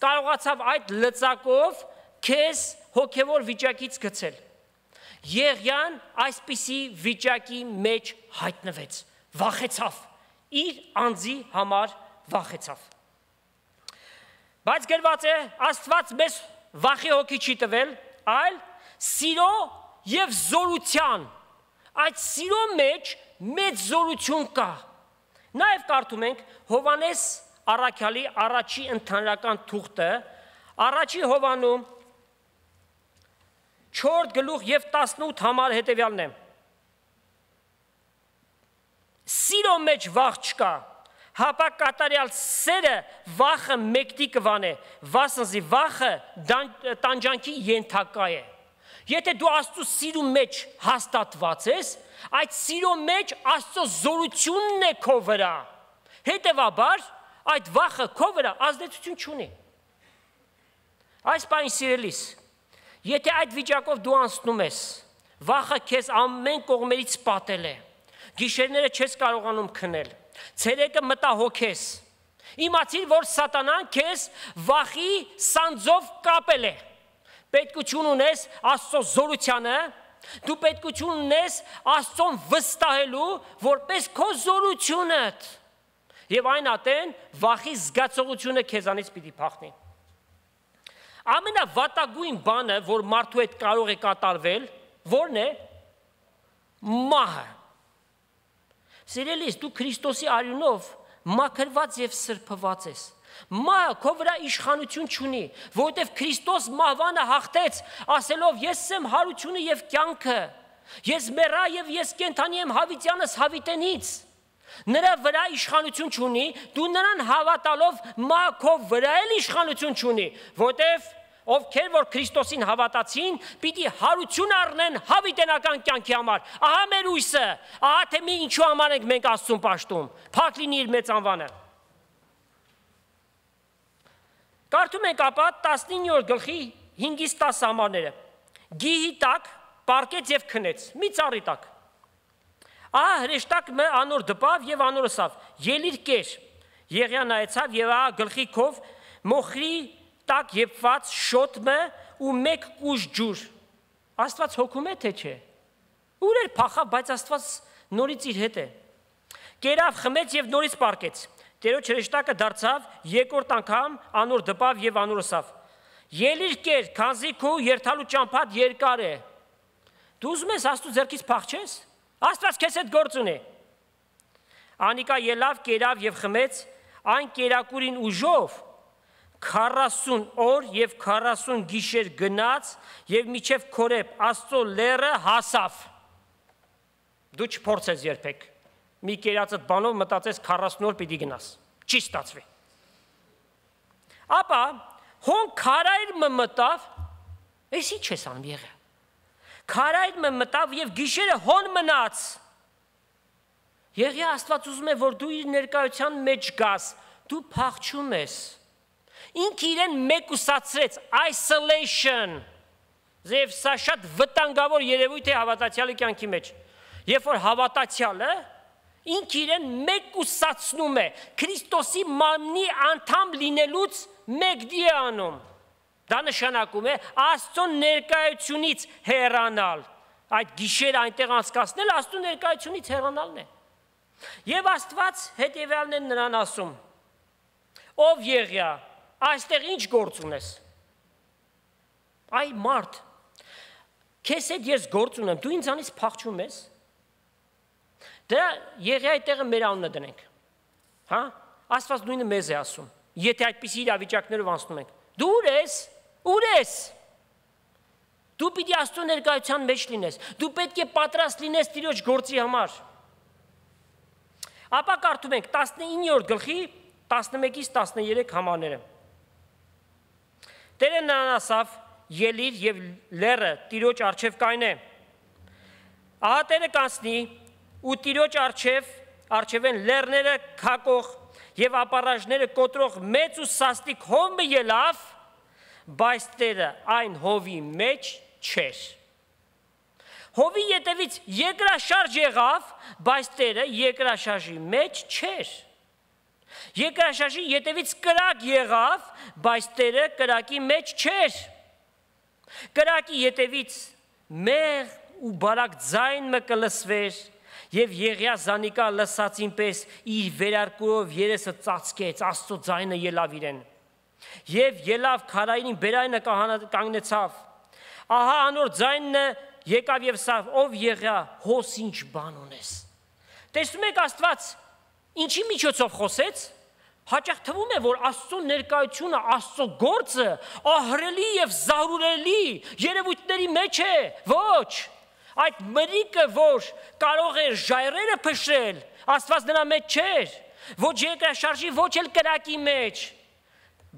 կարողացավ այդ լծակով քեզ հոգևոր վիճակից գցել։ Եղիան այսպիսի վիճակի մեջ հայտնվեց, վախեցավ, իր անձի համար վախեցավ։ Բայց գրված է, Աստված մեզ վախի հոգի չի տվել, այլ սիրո եւ զորության, այդ սիրո մեջ մեծ զորություն կա։ Նաև կարդում ենք Հովանես առաքյալի առաջի ընդհանրական թուղթը, առաջի Հովանում չորրորդ գլուխ եւ տասնութ համար հետեւյալն է։ Սիրո մեջ վախ չկա, հապա կատարյալ սերը վախը մեկտի կվանե, վասնզի վախը տանջանքի ենթակա է։ Եթե դու Աստծո սիրո մեջ հաստատված ես, այդ սիրո մեջ Աստծո զորությունն է քո վրա։ Հետևաբար այդ վախը քո վրա ազդեցություն չունի։ Այս բանը սիրելիս, եթե այդ վիճակով դու անցնում ես, վախը քեզ ամեն կողմերից պատել է, գիշերները չես կարողանում քնել, ցերեկը մտահոգ ես, իմացիր, որ սատանան քեզ վախի սանձով կապել է։ Պետքություն ունես Աստծո զորությանը, դու պետքություն ունես Աստծուն վստահելու, որպես քո զորությունդ։ եւ այն ատեն վախի զգացողությունը քեզանից պիտի փախնի։ Ամենավատագույն բանը, որ մարդու հետ կարող է կատարվել, ո՞րն է։ Մահը։ Սիրելիս, դու Քրիստոսի արյունով մաքրված եւ սրբված ես։ Մահը քո վրա իշխանություն չունի, որովհետեւ Քրիստոս մահվանը հաղթեց, ասելով. ես եմ հարությունը եւ կյանքը, ես մեռա եւ ես կենդանի եմ հավիտյանս հավիտենից։ Նրա վրա իշխանություն չունի, դու նրան հավատալով մահը քո վրա էլ իշխանություն չունի, որովհետեւ ովքեր որ Քրիստոսին հավատացին, պիտի հարություն առնեն հավիտենական կյանքի համար։ Ահա մեր հույսը, ահա թե մի ինչու համար ենք մենք Աստծուն պաշտում։ Փառք լինի իր մեծ անվանը։ Կարդում ենք ապա տասնիններորդ գլխի հինգից տասը համարները։ Գիհի տակ պառկեց եւ քնեց, մի ծառի տակ։ Ահա հրեշտակը անոր դպավ եւ անորը սավ, ելիր կեր։ Եղիա նայեցավ եւ ահա գլխի քով մոխրի տակ եփված շոթը ու մեկ կուժ ջուր։ Աստված հոգում է թե չէ։ Ուր էր փախավ, բայց Աստված նորից իր հետ է։ Կերավ, խմեց եւ նորից պառկեց։ Տերոջ հրեշտակը դարձավ երկրորդ անգամ անոր դպավ եւ անորը սավ։ Ելիր կեր, քանզի քո երթալու ճամփատ երկար է։ Դու ուզում ես Աստծո ձեռքից փախչես։ Աստված քեզ հետ գործ ունի։ Անիկա ելավ, կերավ եւ խմեց, այն կերակուրին ուժով քառասուն օր եւ քառասուն գիշեր գնաց եւ միջև Քորեբ Աստծո լեռը հասավ։ Դու չփորձես երբեք։ Մի կերածդ բանով մտածես քառասուն օր պիտի գնաս։ Չի ստացվի։ Ապա հոն քարայր մտավ, էսի չես անում եղել։ Քարայր մտավ եւ գիշերը հոն մնաց։ Եղիա Աստված ուզում է, որ դու իր ներկայության մեջ գաս, դու փախչում ես։ Ինքը իրեն մեկուսացրեց, isolation։ Եվ սա շատ վտանգավոր երևույթ է հավատացյալի կյանքի մեջ։ Երբ որ հավատացյալը ինքը իրեն մեկուսացնում է, Քրիստոսի մարմնի անդամ լինելուց մեկդի է անում։ Դա նշանակում է Աստծո ներկայությունից հեռանալ։ Այդ գիշերը այնտեղ անցկացնել Աստծո ներկայությունից հեռանալն է։ Եվ Աստված հետևյալն է նրան ասում. Ով Եղիա, այստեղ ինչ գործ ունես։ Այ մարդ, քեզ հետ ես գործ ունեմ, դու ինձանից փախչում ես։ Դրա Եղիայի տեղը մեր անունը դնենք։ Հա? Աստված նույնը մեզ է ասում։ Եթե այդպիսի իրավիճակներով անցնում ենք, դու ուր ես։ Ուր ես։ Դու պիտի Աստծո ներկայության մեջ լինես։ Դու պետք է պատրաստ լինես Տիրոջ գործի համար։ Ապա կարդում ենք տասնիններորդ գլխի տասնմեկից տասներեք համարները։ Տերը նրան ասավ. ելիր եւ լեռը Տիրոջ առջև կայնե։ Ահա Տերը կանցնի ու Տիրոջ առջև առջևեն լեռները քակող եւ ապառաժները կոտրող մեծ ու սաստիկ հոմը ելավ, բայց Տերը այն հովի մեջ չէր։ Հովի ետևից երկրաշարժ եղավ, բայց Տերը երկրաշարժի մեջ չէր։ Երկրաշարժի ետևից կրակ եղավ, բայց Տերը կրակի մեջ չէր։ Կրակի ետևից մեղ ու բարակ ձայն մը կլսվեր, եւ Եղիա զանիկա լսածին պես իր վերարկուով երեսը ծածկեց, Աստծո ձայնը ելավ իրեն։ Եվ ելավ քարայրին բերայնը կանգնեցավ։ Ահա անոր ձայնը եկավ եւ սավ, ով Եղիա, հոս ինչ բան ունես։ Տեսնում եք Աստված ինչի միջոցով խոսեց։ Հաճախ թվում է, որ Աստծո ներկայությունը, Աստծո գործը ահռելի եւ զարուրելի երևույթների մեջ է։ Ոչ, այդ մրիկը, որ կարող էր ժայռերը փշրել, Աստված նրա մեջ չէր։ Ոչ երկրաշարժի, ոչ էլ կրակի մեջ։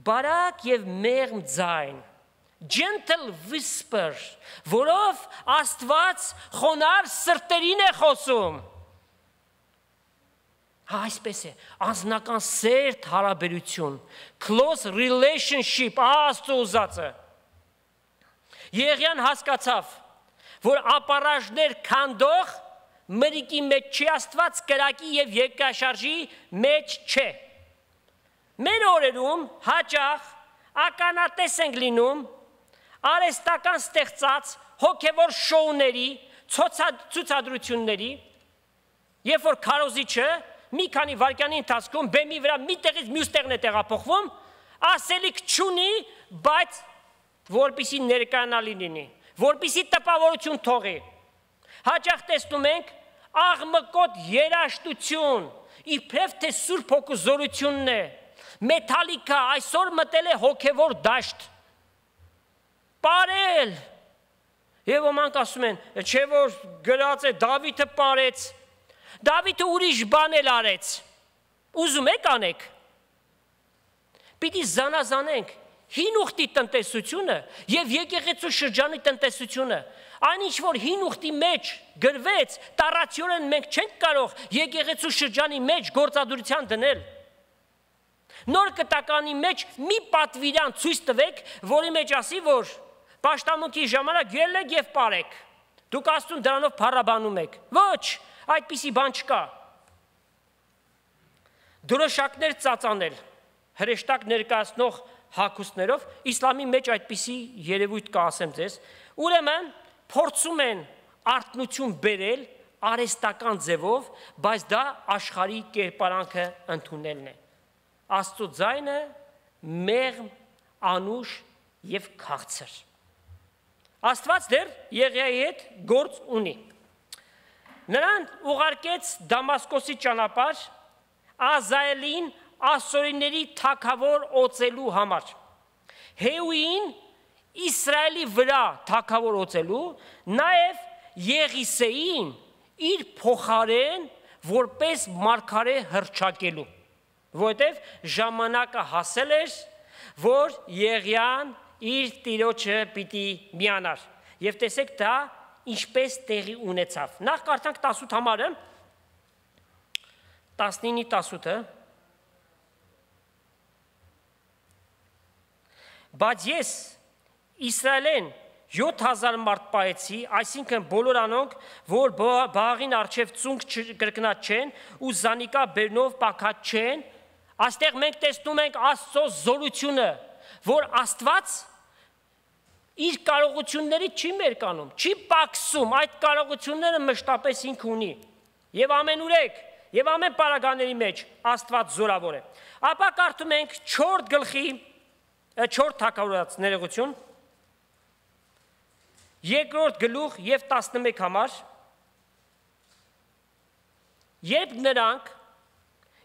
Բարակ եւ մեղմ ձայն, gentle whisper, որով Աստված խոնար սրտերին է խոսում։ Այսպես է, անձնական սերտ հարաբերություն, close relationship, Աստծո ուզածը։ Եղիան հասկացավ, որ ապառաժներ քանդող մրիկի մեջ չի Աստված, կրակի եւ երկրաշարժի մեջ չէ։ Մեր օրերում հաճախ ականատես ենք լինում արհեստական ստեղծած հոգևոր շոուների, ցուցադրությունների, երբ որ քարոզիչը մի քանի վայրկյանի ընթացքում բեմի վրա մի տեղից մյուս տեղն է տեղափոխվում, ասելիք չունի, բայց որպեսզի ներկայանալի լինի, որպեսզի տպավորություն թողի։ Հաճախ տեսնում ենք աղմկոտ երաժշտություն, իբրև թե Սուրբ Հոգու զորությունն է, մեթալիկա այսօր մտել է հոգևոր դաշտ, պարել, եւ ոմանք ասում են, չէ որ գրած է Դավիթը պարեց, Դավիթը ուրիշ բան էլ արեց, ուզում եք անեք, պիտի զանազանենք հին ուխտի տնտեսությունը եւ եկեղեցու շրջանի տնտեսությունը, այն ինչ որ հին ուխտի մեջ գրվեց, տարածյորեն մենք չենք կարող եկեղեցու շրջանի մեջ գործադրության դնել։ Նոր կտականի մեջ մի պատվիրան ցույց տվեք, որի մեջ ասի, որ պաշտամունքի ժամանակ ելեք եւ պարեք։ Դուք Աստծուն դրանով փառաբանում եք։ Ոչ, այդպիսի բան չկա։ Դրոշակներ ծածանել, հրեշտակ ներկայացնող հագուստներով իսլամի մեջ այդպիսի երևույթ կա, ասեմ ձեզ, ուրեմն փորձում են արթնություն բերել արհեստական ձևով, բայց դա աշխարհի կերպարանքը ընդունելն է։ Աստծո ձայնը մեղմ, անուշ եւ քաղցր։ Աստված դեռ Եղիայի հետ գործ ունի։ Նրան ուղարկեց Դամասկոսի ճանապարհ Ազայելին ասորիների թագավոր օծելու համար։ Հեուին Իսրայելի վրա թագավոր օծելու, նաև Եղիսեին իր փոխարեն որպես մարգարե հռչակելու, որովհետև ժամանակը հասել էր, որ Եղիան իր տիրոջը պիտի միանար։ Եվ տեսեք դա ինչպես տեղի ունեցավ։ Նախ կարդանք տասութ համարը, տասնինի տասութը, բայց ես Իսրայելեն յոթ հազար մարդ պահեցի, այսինքն բոլոր անոնք, որ բաղին առջև ծունկ կրկնած չեն ու զանիկա բերնով պակած չեն, այստեղ մենք տեսնում ենք Աստծո զորությունը, որ Աստված իր կարողությունների չի մերկանում, չի պակսում, այդ կարողությունները մշտապես ինքը ունի։ Եվ ամենուրեք, եւ ամեն պարագաների մեջ Աստված զորավոր է։ Ապա կարդում ենք չորրորդ գլխի չորրորդ թագավորաց ներողություն, երկրորդ գլուխ եւ տասնմեկ համար, երբ նրանք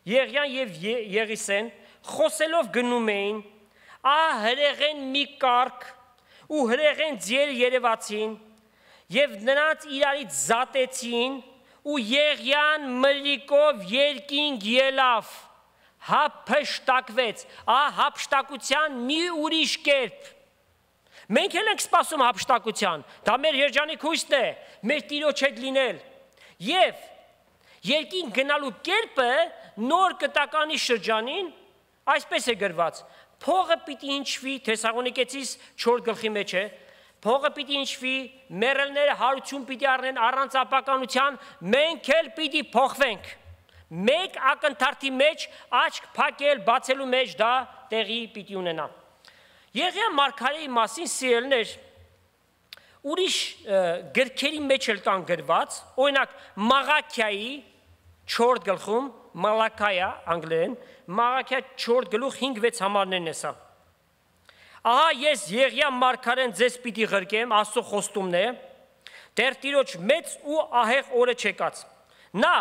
Եղիան եւ Եղիսեն խոսելով գնում էին, ահ հրեղեն մի կարգ ու հրեղեն ձեր երևացին եւ նրանց իրարից զատեցին ու Եղիան մրրիկով երկինք ելավ, հափշտակվեց, ահ հափշտակության մի ուրիշ կերպ։ Մենք էլ ենք սպասում հափշտակության, դա մեր երջանիկ հույսն է, մեր Տիրոջ հետ լինել։ Եվ երկին գնալու կերպը նոր կտականի շրջանին այսպես է գրված. փողը պիտի ինչվի, Թեսաղոնիկեցիս չորրորդ գլխի մեջ է, փողը պիտի ինչվի, մեռելները հարություն պիտի առնեն առանց ապականության, մենք էլ պիտի փոխվենք։ Մեկ ակնթարթի մեջ աչք փակել, բացելու մեջ դա տեղի պիտի ունենա։ Եղիա մարգարեի մասին սիրելներ, ուրիշ գրքերի մեջ էլ կան գրված, օրինակ Մաղաքիայի չորրորդ գլխում, Մալաքայա անգլերեն, Մաղաքիա չորրորդ գլուխ հինգ վեց համարներն է սա։ Ահա ես Եղիա մարգարեն ձեզ պիտի ղրկեմ, Աստծո խոստումն է, դեռ Տիրոջ մեծ ու ահեղ օրը չեկած։ Նա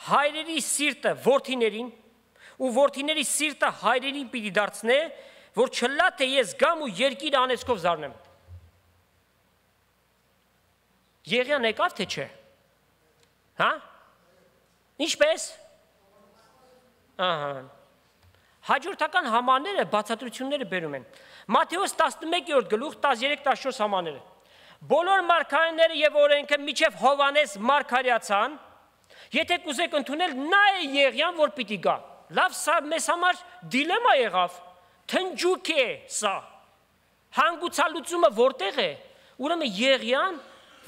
հայրերի սիրտը որդիներին ու որդիների սիրտը հայրերին պիտի դարձնե, որ չլա թե ես գամ ու երկիր անեծքով զարնեմ։ Եղիան եկավ թե չէ։ Հա? Ինչպես։ Ահա։ Հաջորդական համարները բացատրությունները բերում են։ Մատթեոս տասնմեկերորդ գլուխ տասներեք տասնչորս համարները։ Բոլոր մարգարեները եւ օրենքը միջև Հովանես մարգարեացան, եթե կուզեք ընդունել, նա է Եղիան, որ պիտի գա։ Լավ, սա մեզ համար դիլեմա եղավ, թնջուկ է սա։ Հանգուցալուծումը որտեղ է։ Ուրեմն Եղիան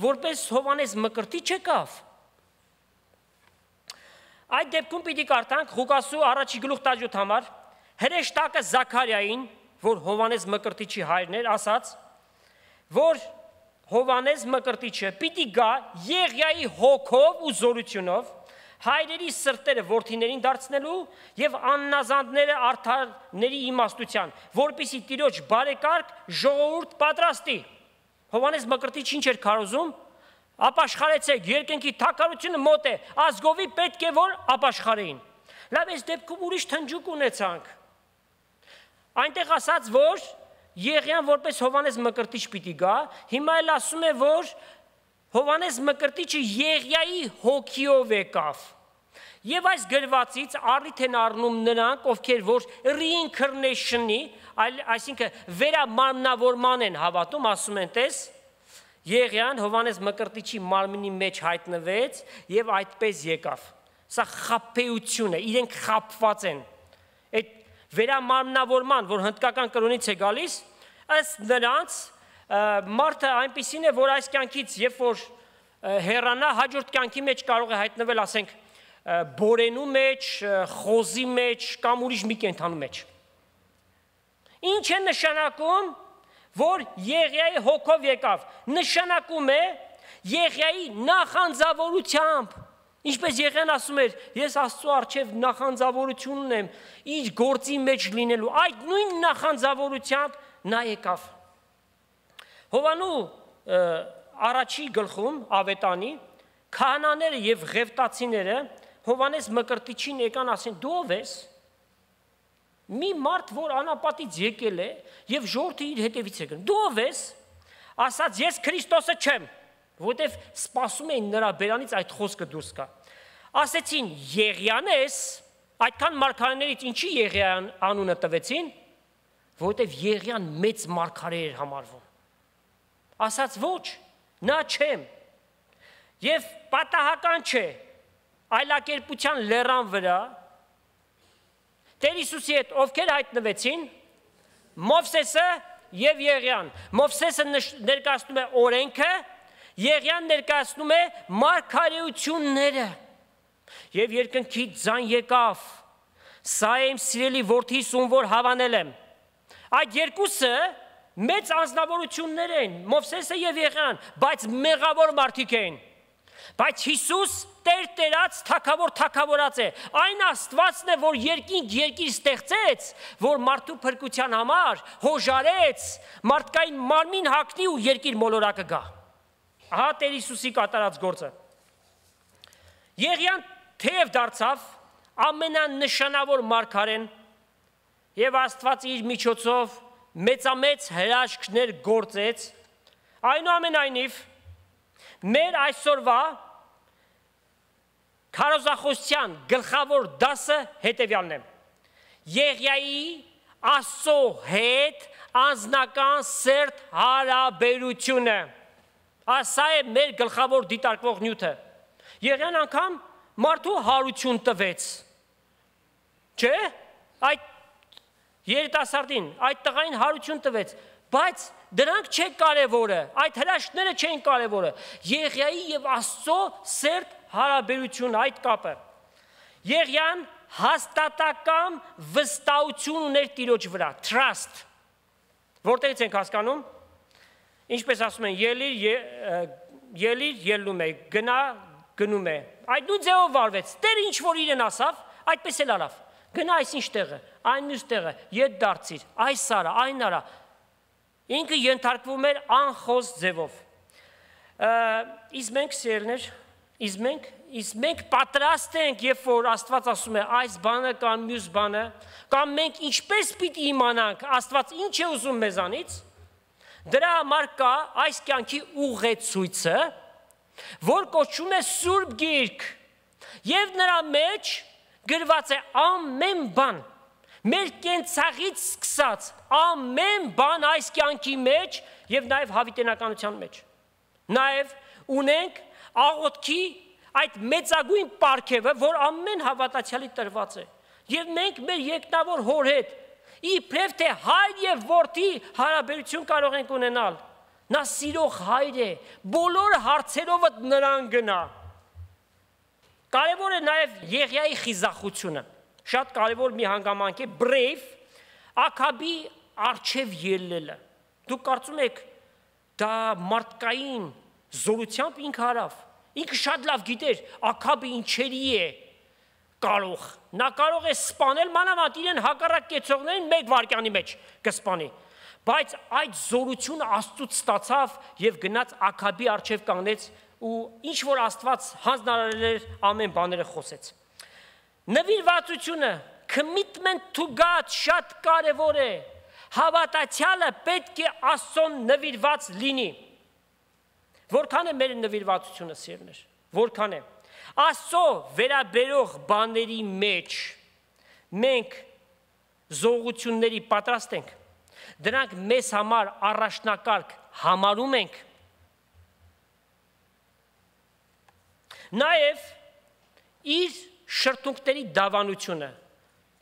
որպես Հովանես Մկրտիչ եկավ։ Այդ դեպքում պիտի կարդանք Ղուկասու առաջի գլուխ տասնյոթ համար, հրեշտակը Զաքարիային, որ Հովանես Մկրտիչի հայրն էր, ասաց, որ Հովանես Մկրտիչը պիտի գա Եղիայի հոգով ու զորությունով, հայրերի սրտերը որդիներին դարձնելու եւ աննազանդները արդարների իմաստության, որպիսի Տիրոջ բարեկարգ ժողովուրդ պատրաստի։ Հովանես Մկրտիչը ինչ էր քարոզում։ Ապաշխարեցեք, երկնքի թակարությունը մոտ է, ազգովի պետք է որ ապաշխարեին։ Լավ, այս դեպքում ուրիշ թնջուկ ունեցանք։ Այնտեղ ասած, որ Եղիան որպես Հովանես Մկրտիչ պիտի գա, հիմա էլ ասում է, որ Հովանես Մկրտիչը Եղիայի հոգիով եկավ։ Եվ այս գրվածից առիթ են առնում նրանք, ովքեր որ reincarnation-ի, այսինքն վերամանավորման են հավատում, ասում են, տես, Եղիան Հովանես Մկրտիչի մարմնի մեջ հայտնվեց եւ այդպես եկավ։ Սա խաբեություն է, իրենք խաբված են։ Այդ վերամանավորման, որ հնդկական կրոնից է գալիս, ըստ նրանց մարդը այնպիսին է, որ այս կյանքից երբ որ հեռանա, հաջորդ կյանքի մեջ կարող է հայտնվել, ասենք, բորենու մեջ, խոզի մեջ կամ ուրիշ մի կենդանու մեջ։ Ինչ է նշանակում, որ Եղիայի հոգով եկավ, նշանակում է Եղիայի նախանձավորությամբ, ինչպես Եղիան ասում էր, ես Աստծո առջև նախանձավորություն ունեմ, իր գործի մեջ լինելու, այդ նույն նախանձավորությամբ նա եկավ։ Հովանու առաջի գլխում ավետանի քահանաները եւ ղևտացիները Հովանես Մկրտիչին եկան ասեն, դու ով ես։ Մի մարդ, որ անապատից եկել է եւ ժողովուրդը իր հետևից է գնում։ Դու ով ես։ Ասաց, ես Քրիստոսը չեմ, որտեվ սպասում էին նրա բերանից այդ խոսքը դուրս գա։ Ասեցին, Եղիան ես, այդքան մարգարեներից ինչի Եղիան անունը տվեցին, որտեվ Եղիան մեծ մարգարե էր համարվում։ Ասաց, ոչ, նա չեմ։ Եվ պատահական չէ, այլակերպության լեռան վրա Տեր Հիսուսի հետ ովքեր հայտնվեցին, Մովսեսը եւ Եղիան։ Մովսեսը ներկայացնում է օրենքը, Եղիան ներկայացնում է մարգարեությունները։ Եվ երկնքի ձայն եկավ, սա է իմ սիրելի որդիս, ում որ հավանել եմ։ Այդ երկուսը մեծ անձնավորություններ են, Մովսեսը եւ Եղիան, բայց մեղավոր մարդիկ են։ Բայց Հիսուս Տեր Տերած թագավոր թագավորած է։ Այն Աստվածն է, որ երկինք երկիր ստեղծեց, որ մարդու փրկության համար հոժարեց, մարդկային մարմին հագնի ու երկիր մոլորակը գա։ Ահա Տեր Հիսուսի կատարած գործը։ Եղիան թեև դարձավ ամենանշանավոր մարգարեն եւ Աստված իր միջոցով մեծամեծ հրաշքներ գործեց, այնուամենայնիվ մեր այսօրվա քարոզախոսության գլխավոր դասը հետևյալն է։ Եղիայի Աստծո հետ անձնական սերտ հարաբերությունը։ Սա է մեր գլխավոր դիտարկվող նյութը։ Եղիան անգամ մարդու հարություն տվեց։ Չէ՞, այդ երիտասարդին, այդ տղային հարություն տվեց, բայց դրանք չեն կարևորը, այդ հրաշքները չեն կարևորը։ Եղիայի եւ Աստծո սերտ հարաբերություն, այդ կապը։ Եղիան հաստատակամ վստահություն ուներ Տիրոջ վրա, trust։ Որտեղից ենք հասկանում։ Ինչպես ասում են, ելիր, ելիր, ելնում է, գնա, գնում է։ Այդ նույն ձևով վարվեց։ Տերը ինչ որ իրեն ասավ, այդպես էլ արավ։ Գնա այսինչ տեղը, այն մյուս տեղը, ետ դարձիր, այս արա, այն արա։ Ինքը ենթարկվում էր անխոս ձևով։ Իսկ մենք սիրելիներ, իսկ մենք, իսկ մենք պատրաստ ենք, երբ որ Աստված ասում է այս բանը կամ մյուս բանը, կամ մենք ինչպես պիտի իմանանք Աստված ինչ է ուզում մեզանից, դրա համար կա այս կյանքի ուղեցույցը, որ կոչվում է Սուրբ Գիրք, եւ նրա մեջ գրված է ամեն բան, մեր կենցաղից սկսած ամեն բան այս կյանքի մեջ եւ նաեւ հավիտենականության մեջ։ Նաեւ ունենք աղոթքի այդ մեծագույն պարգևը, որ ամեն հավատացյալի տրված է։ Եվ մենք մեր երկնավոր Հոր հետ իբրև թե հայր եւ որդի հարաբերություն կարող ենք ունենալ։ Նա սիրող հայր է, բոլոր հարցերով նրան գնա։ Կարևոր է նաեւ Եղիայի խիզախությունը։ Շատ կարևոր մի հանգամանք է brave Աքաբի արչև ելնելը։ Դուք կարծում եք դա մարդկային զորությամբ ինքը արավ։ Ինքը շատ լավ գիտեր Աքաբը ինչերի է կարող։ Նա կարող է սպանել մանավանդ իրեն հակառակ կեցողներին մեկ վայրկյանի մեջ կսպանի։ Բայց այդ զորությունը Աստծուց ստացավ եւ գնաց Աքաբի առջև կանգնեց ու ինչ որ Աստված հանձնարարել էր ամեն բաները խոսեց։ Նվիրվածությունը, commitment to God շատ կարևոր է։ Հավատացյալը պետք է Աստծուն նվիրված լինի։ Որքան է մեր նվիրվածությունը, սիրներ, որքան է։ Աստծո վերաբերող բաների մեջ մենք զողությունների պատրաստ ենք։ Դրանք մեզ համար առաջնակարգ համարում ենք։ Նաև իր շրթունքների դավանությունը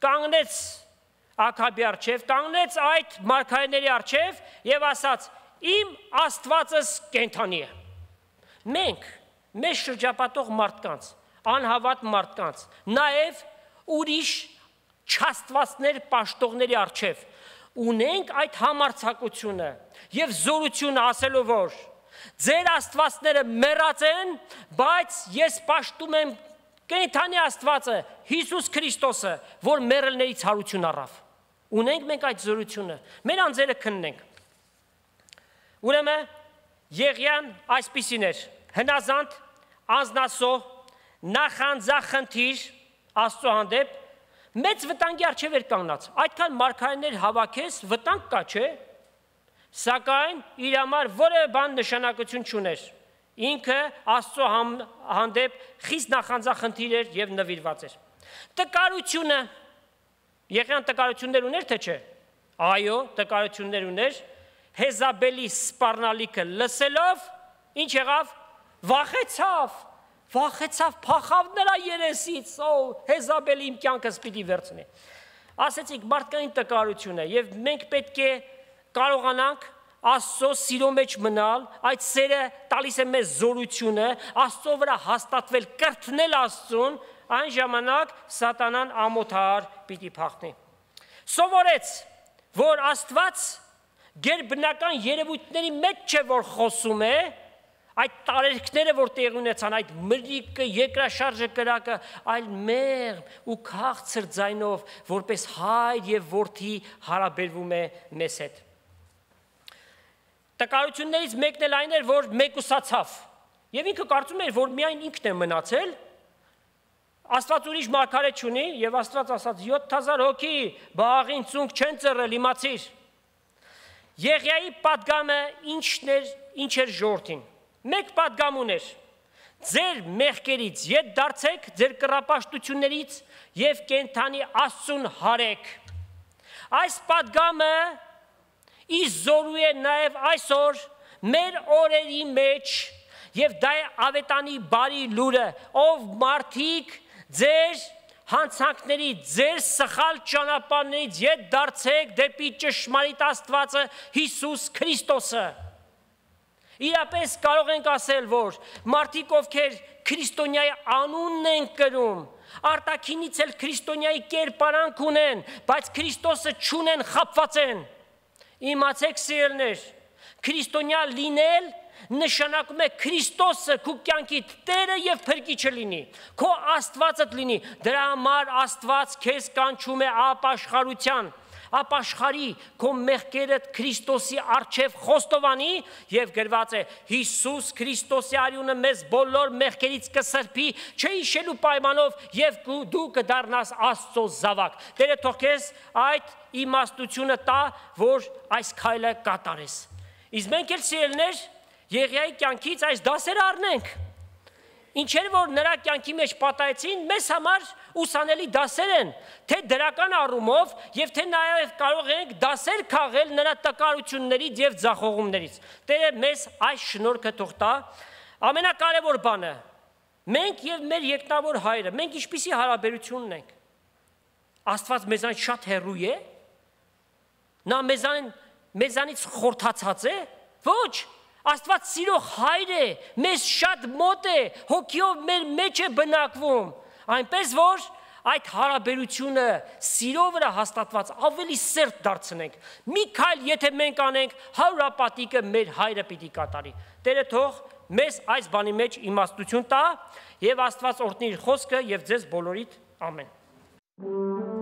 կանգնեց Աքաբի առջև, կանգնեց այդ մարգարեների առջև եւ ասաց. իմ Աստվածս կենդանի է։ Մենք մեզ շրջապատող մարդկանց, անհավատ մարդկանց, նաև ուրիշ չաստվածներ պաշտողների առջև ունենք այդ համարձակությունը եւ զորությունը ասելով, որ ձեր աստվածները մեռած են, բայց ես պաշտում եմ կենդանի Աստվածը, Հիսուս Քրիստոսը, որ մեռելներից հարություն առավ։ Ունենք մենք այդ զորությունը, մեր անձերը քննենք։ Ուրեմն Եղիան այսպիսին էր, հնազանդ, անձնասո, նախանձախնդիր Աստծո հանդեպ, մեծ վտանգի առջև էր կանգնած, այդքան մարգարեներ հավաքես, վտանգ կա, չէ, սակայն իր համար որևէ բան նշանակություն չուներ, ինքը Աստծո հանդեպ խիստ նախանձախնդիր էր եւ նվիրված էր։ Տկարությունը, Եղիան տկարություններ ուներ, թե չէ, այո, տկարություններ ուներ, Հեզաբելի սպառնալիքը լսելով, ինչ եղավ, վախեցավ, վախեցավ, փախավ նրա երեսից, օ, Հեզաբելի իմ կյանքս պիտի վերցնի։ Ասեցիք, մարդկային տկարություն է, եւ մենք պետք է կարողանանք Աստծո սիրո մեջ մնալ, այդ սերը տալիս է մեզ զորությունը, Աստծո վրա հաստատվել, կրթնել Աստծուն, այն ժամանակ սատանան ամոթար պիտի փախնի։ Սովորեց, որ Աստված գերբնական երևույթների մեջ չէ, որ խոսում է, այդ տարերքները, որ տեղի ունեցան, այդ մրրիկը, երկրաշարժը կրակը, այլ մեղմ ու քաղցր ձայնով, որպես հայր եւ որդի հարաբերվում է մեզ հետ։ Տկարություններից մեկն էլ այն էր, որ մեկուսացավ, եւ ինքը կարծում էր, որ միայն ինքն է մնացել, Աստված ուրիշ մարգարե չունի, եւ Աստված ասաց յոթ հազար հոգի բաղին ծունկ չեն ծռել, իմացիր։ Եղիայի պատգամը ինչն էր, ինչ էր ժողովրդին։ Մեկ պատգամ ուներ. ձեր մեղքերից ետ դարձեք, ձեր կռապաշտություններից եւ կենդանի Աստծուն հարեք։ Այս պատգամը իր զորու է նաև այսօր մեր օրերի մեջ եւ դա է ավետանի բարի լուրը, ով մարդիկ ձեր հանցանքներից, ձեր սխալ ճանապարհներից ետ դարձեք դեպի ճշմարիտ Աստվածը Հիսուս Քրիստոսը։ Իրապես կարող ենք ասել, որ մարդիկ, ովքեր քրիստոնյայի անունն են կրում, արտաքինից էլ քրիստոնյայի կերպարանք ունեն, բայց Քրիստոսը չունեն, խաբված են։ Իմացեք, սիրելիներ, քրիստոնյա լինել նշանակում է Քրիստոսը քո կյանքի Տերը եւ Փրկիչը լինի, քո Աստվածդ լինի, դրա համար Աստված քեզ կանչում է ապաշխարության, ապաշխարի քո մեղքերդ Քրիստոսի առջև խոստովանի եւ գրված է Հիսուս Քրիստոսի արյունը մեզ բոլոր մեղքերից կսրբի, չհիշելու պայմանով եւ դու կդառնաս Աստծո զավակ։ Տերը թող քեզ այդ իմաստությունը տա, որ այս քայլը կատարես։ Իսկ մենք էլ սիրելիներ Եղիայի կյանքից այս դասերը առնենք։ Ինչեր որ նրա կյանքի մեջ պատահեցին, մեզ համար ուսանելի դասեր են, թե դրական առումով եւ թե նաեւ կարող ենք դասեր քաղել նրա տկարություններից եւ ձախողումներից։ Տերը մեզ այս շնորհքը թող տա։ Ամենակարևոր բանը, մենք եւ մեր երկնավոր Հայրը, մենք ինչպիսի հարաբերություն ունենք։ Աստված մեզանից շատ հեռու է։ Նա մեզան մեզանից խորթացած է։ Ոչ, Աստված սիրող Հայր է, մեզ շատ մոտ է, հոգիով մեր մեջ է բնակվում, այնպես որ այդ հարաբերությունը սիրո վրա հաստատված ավելի սերտ դարձնենք։ Մի քայլ եթե մենք անենք, հարուրապատիկը մեր հայրը պիտի կատարի։ Տերը թող մեզ այս բանի մեջ իմաստություն տա, եւ Աստված օրհնի իր խոսքը եւ ձեզ բոլորիդ ամեն։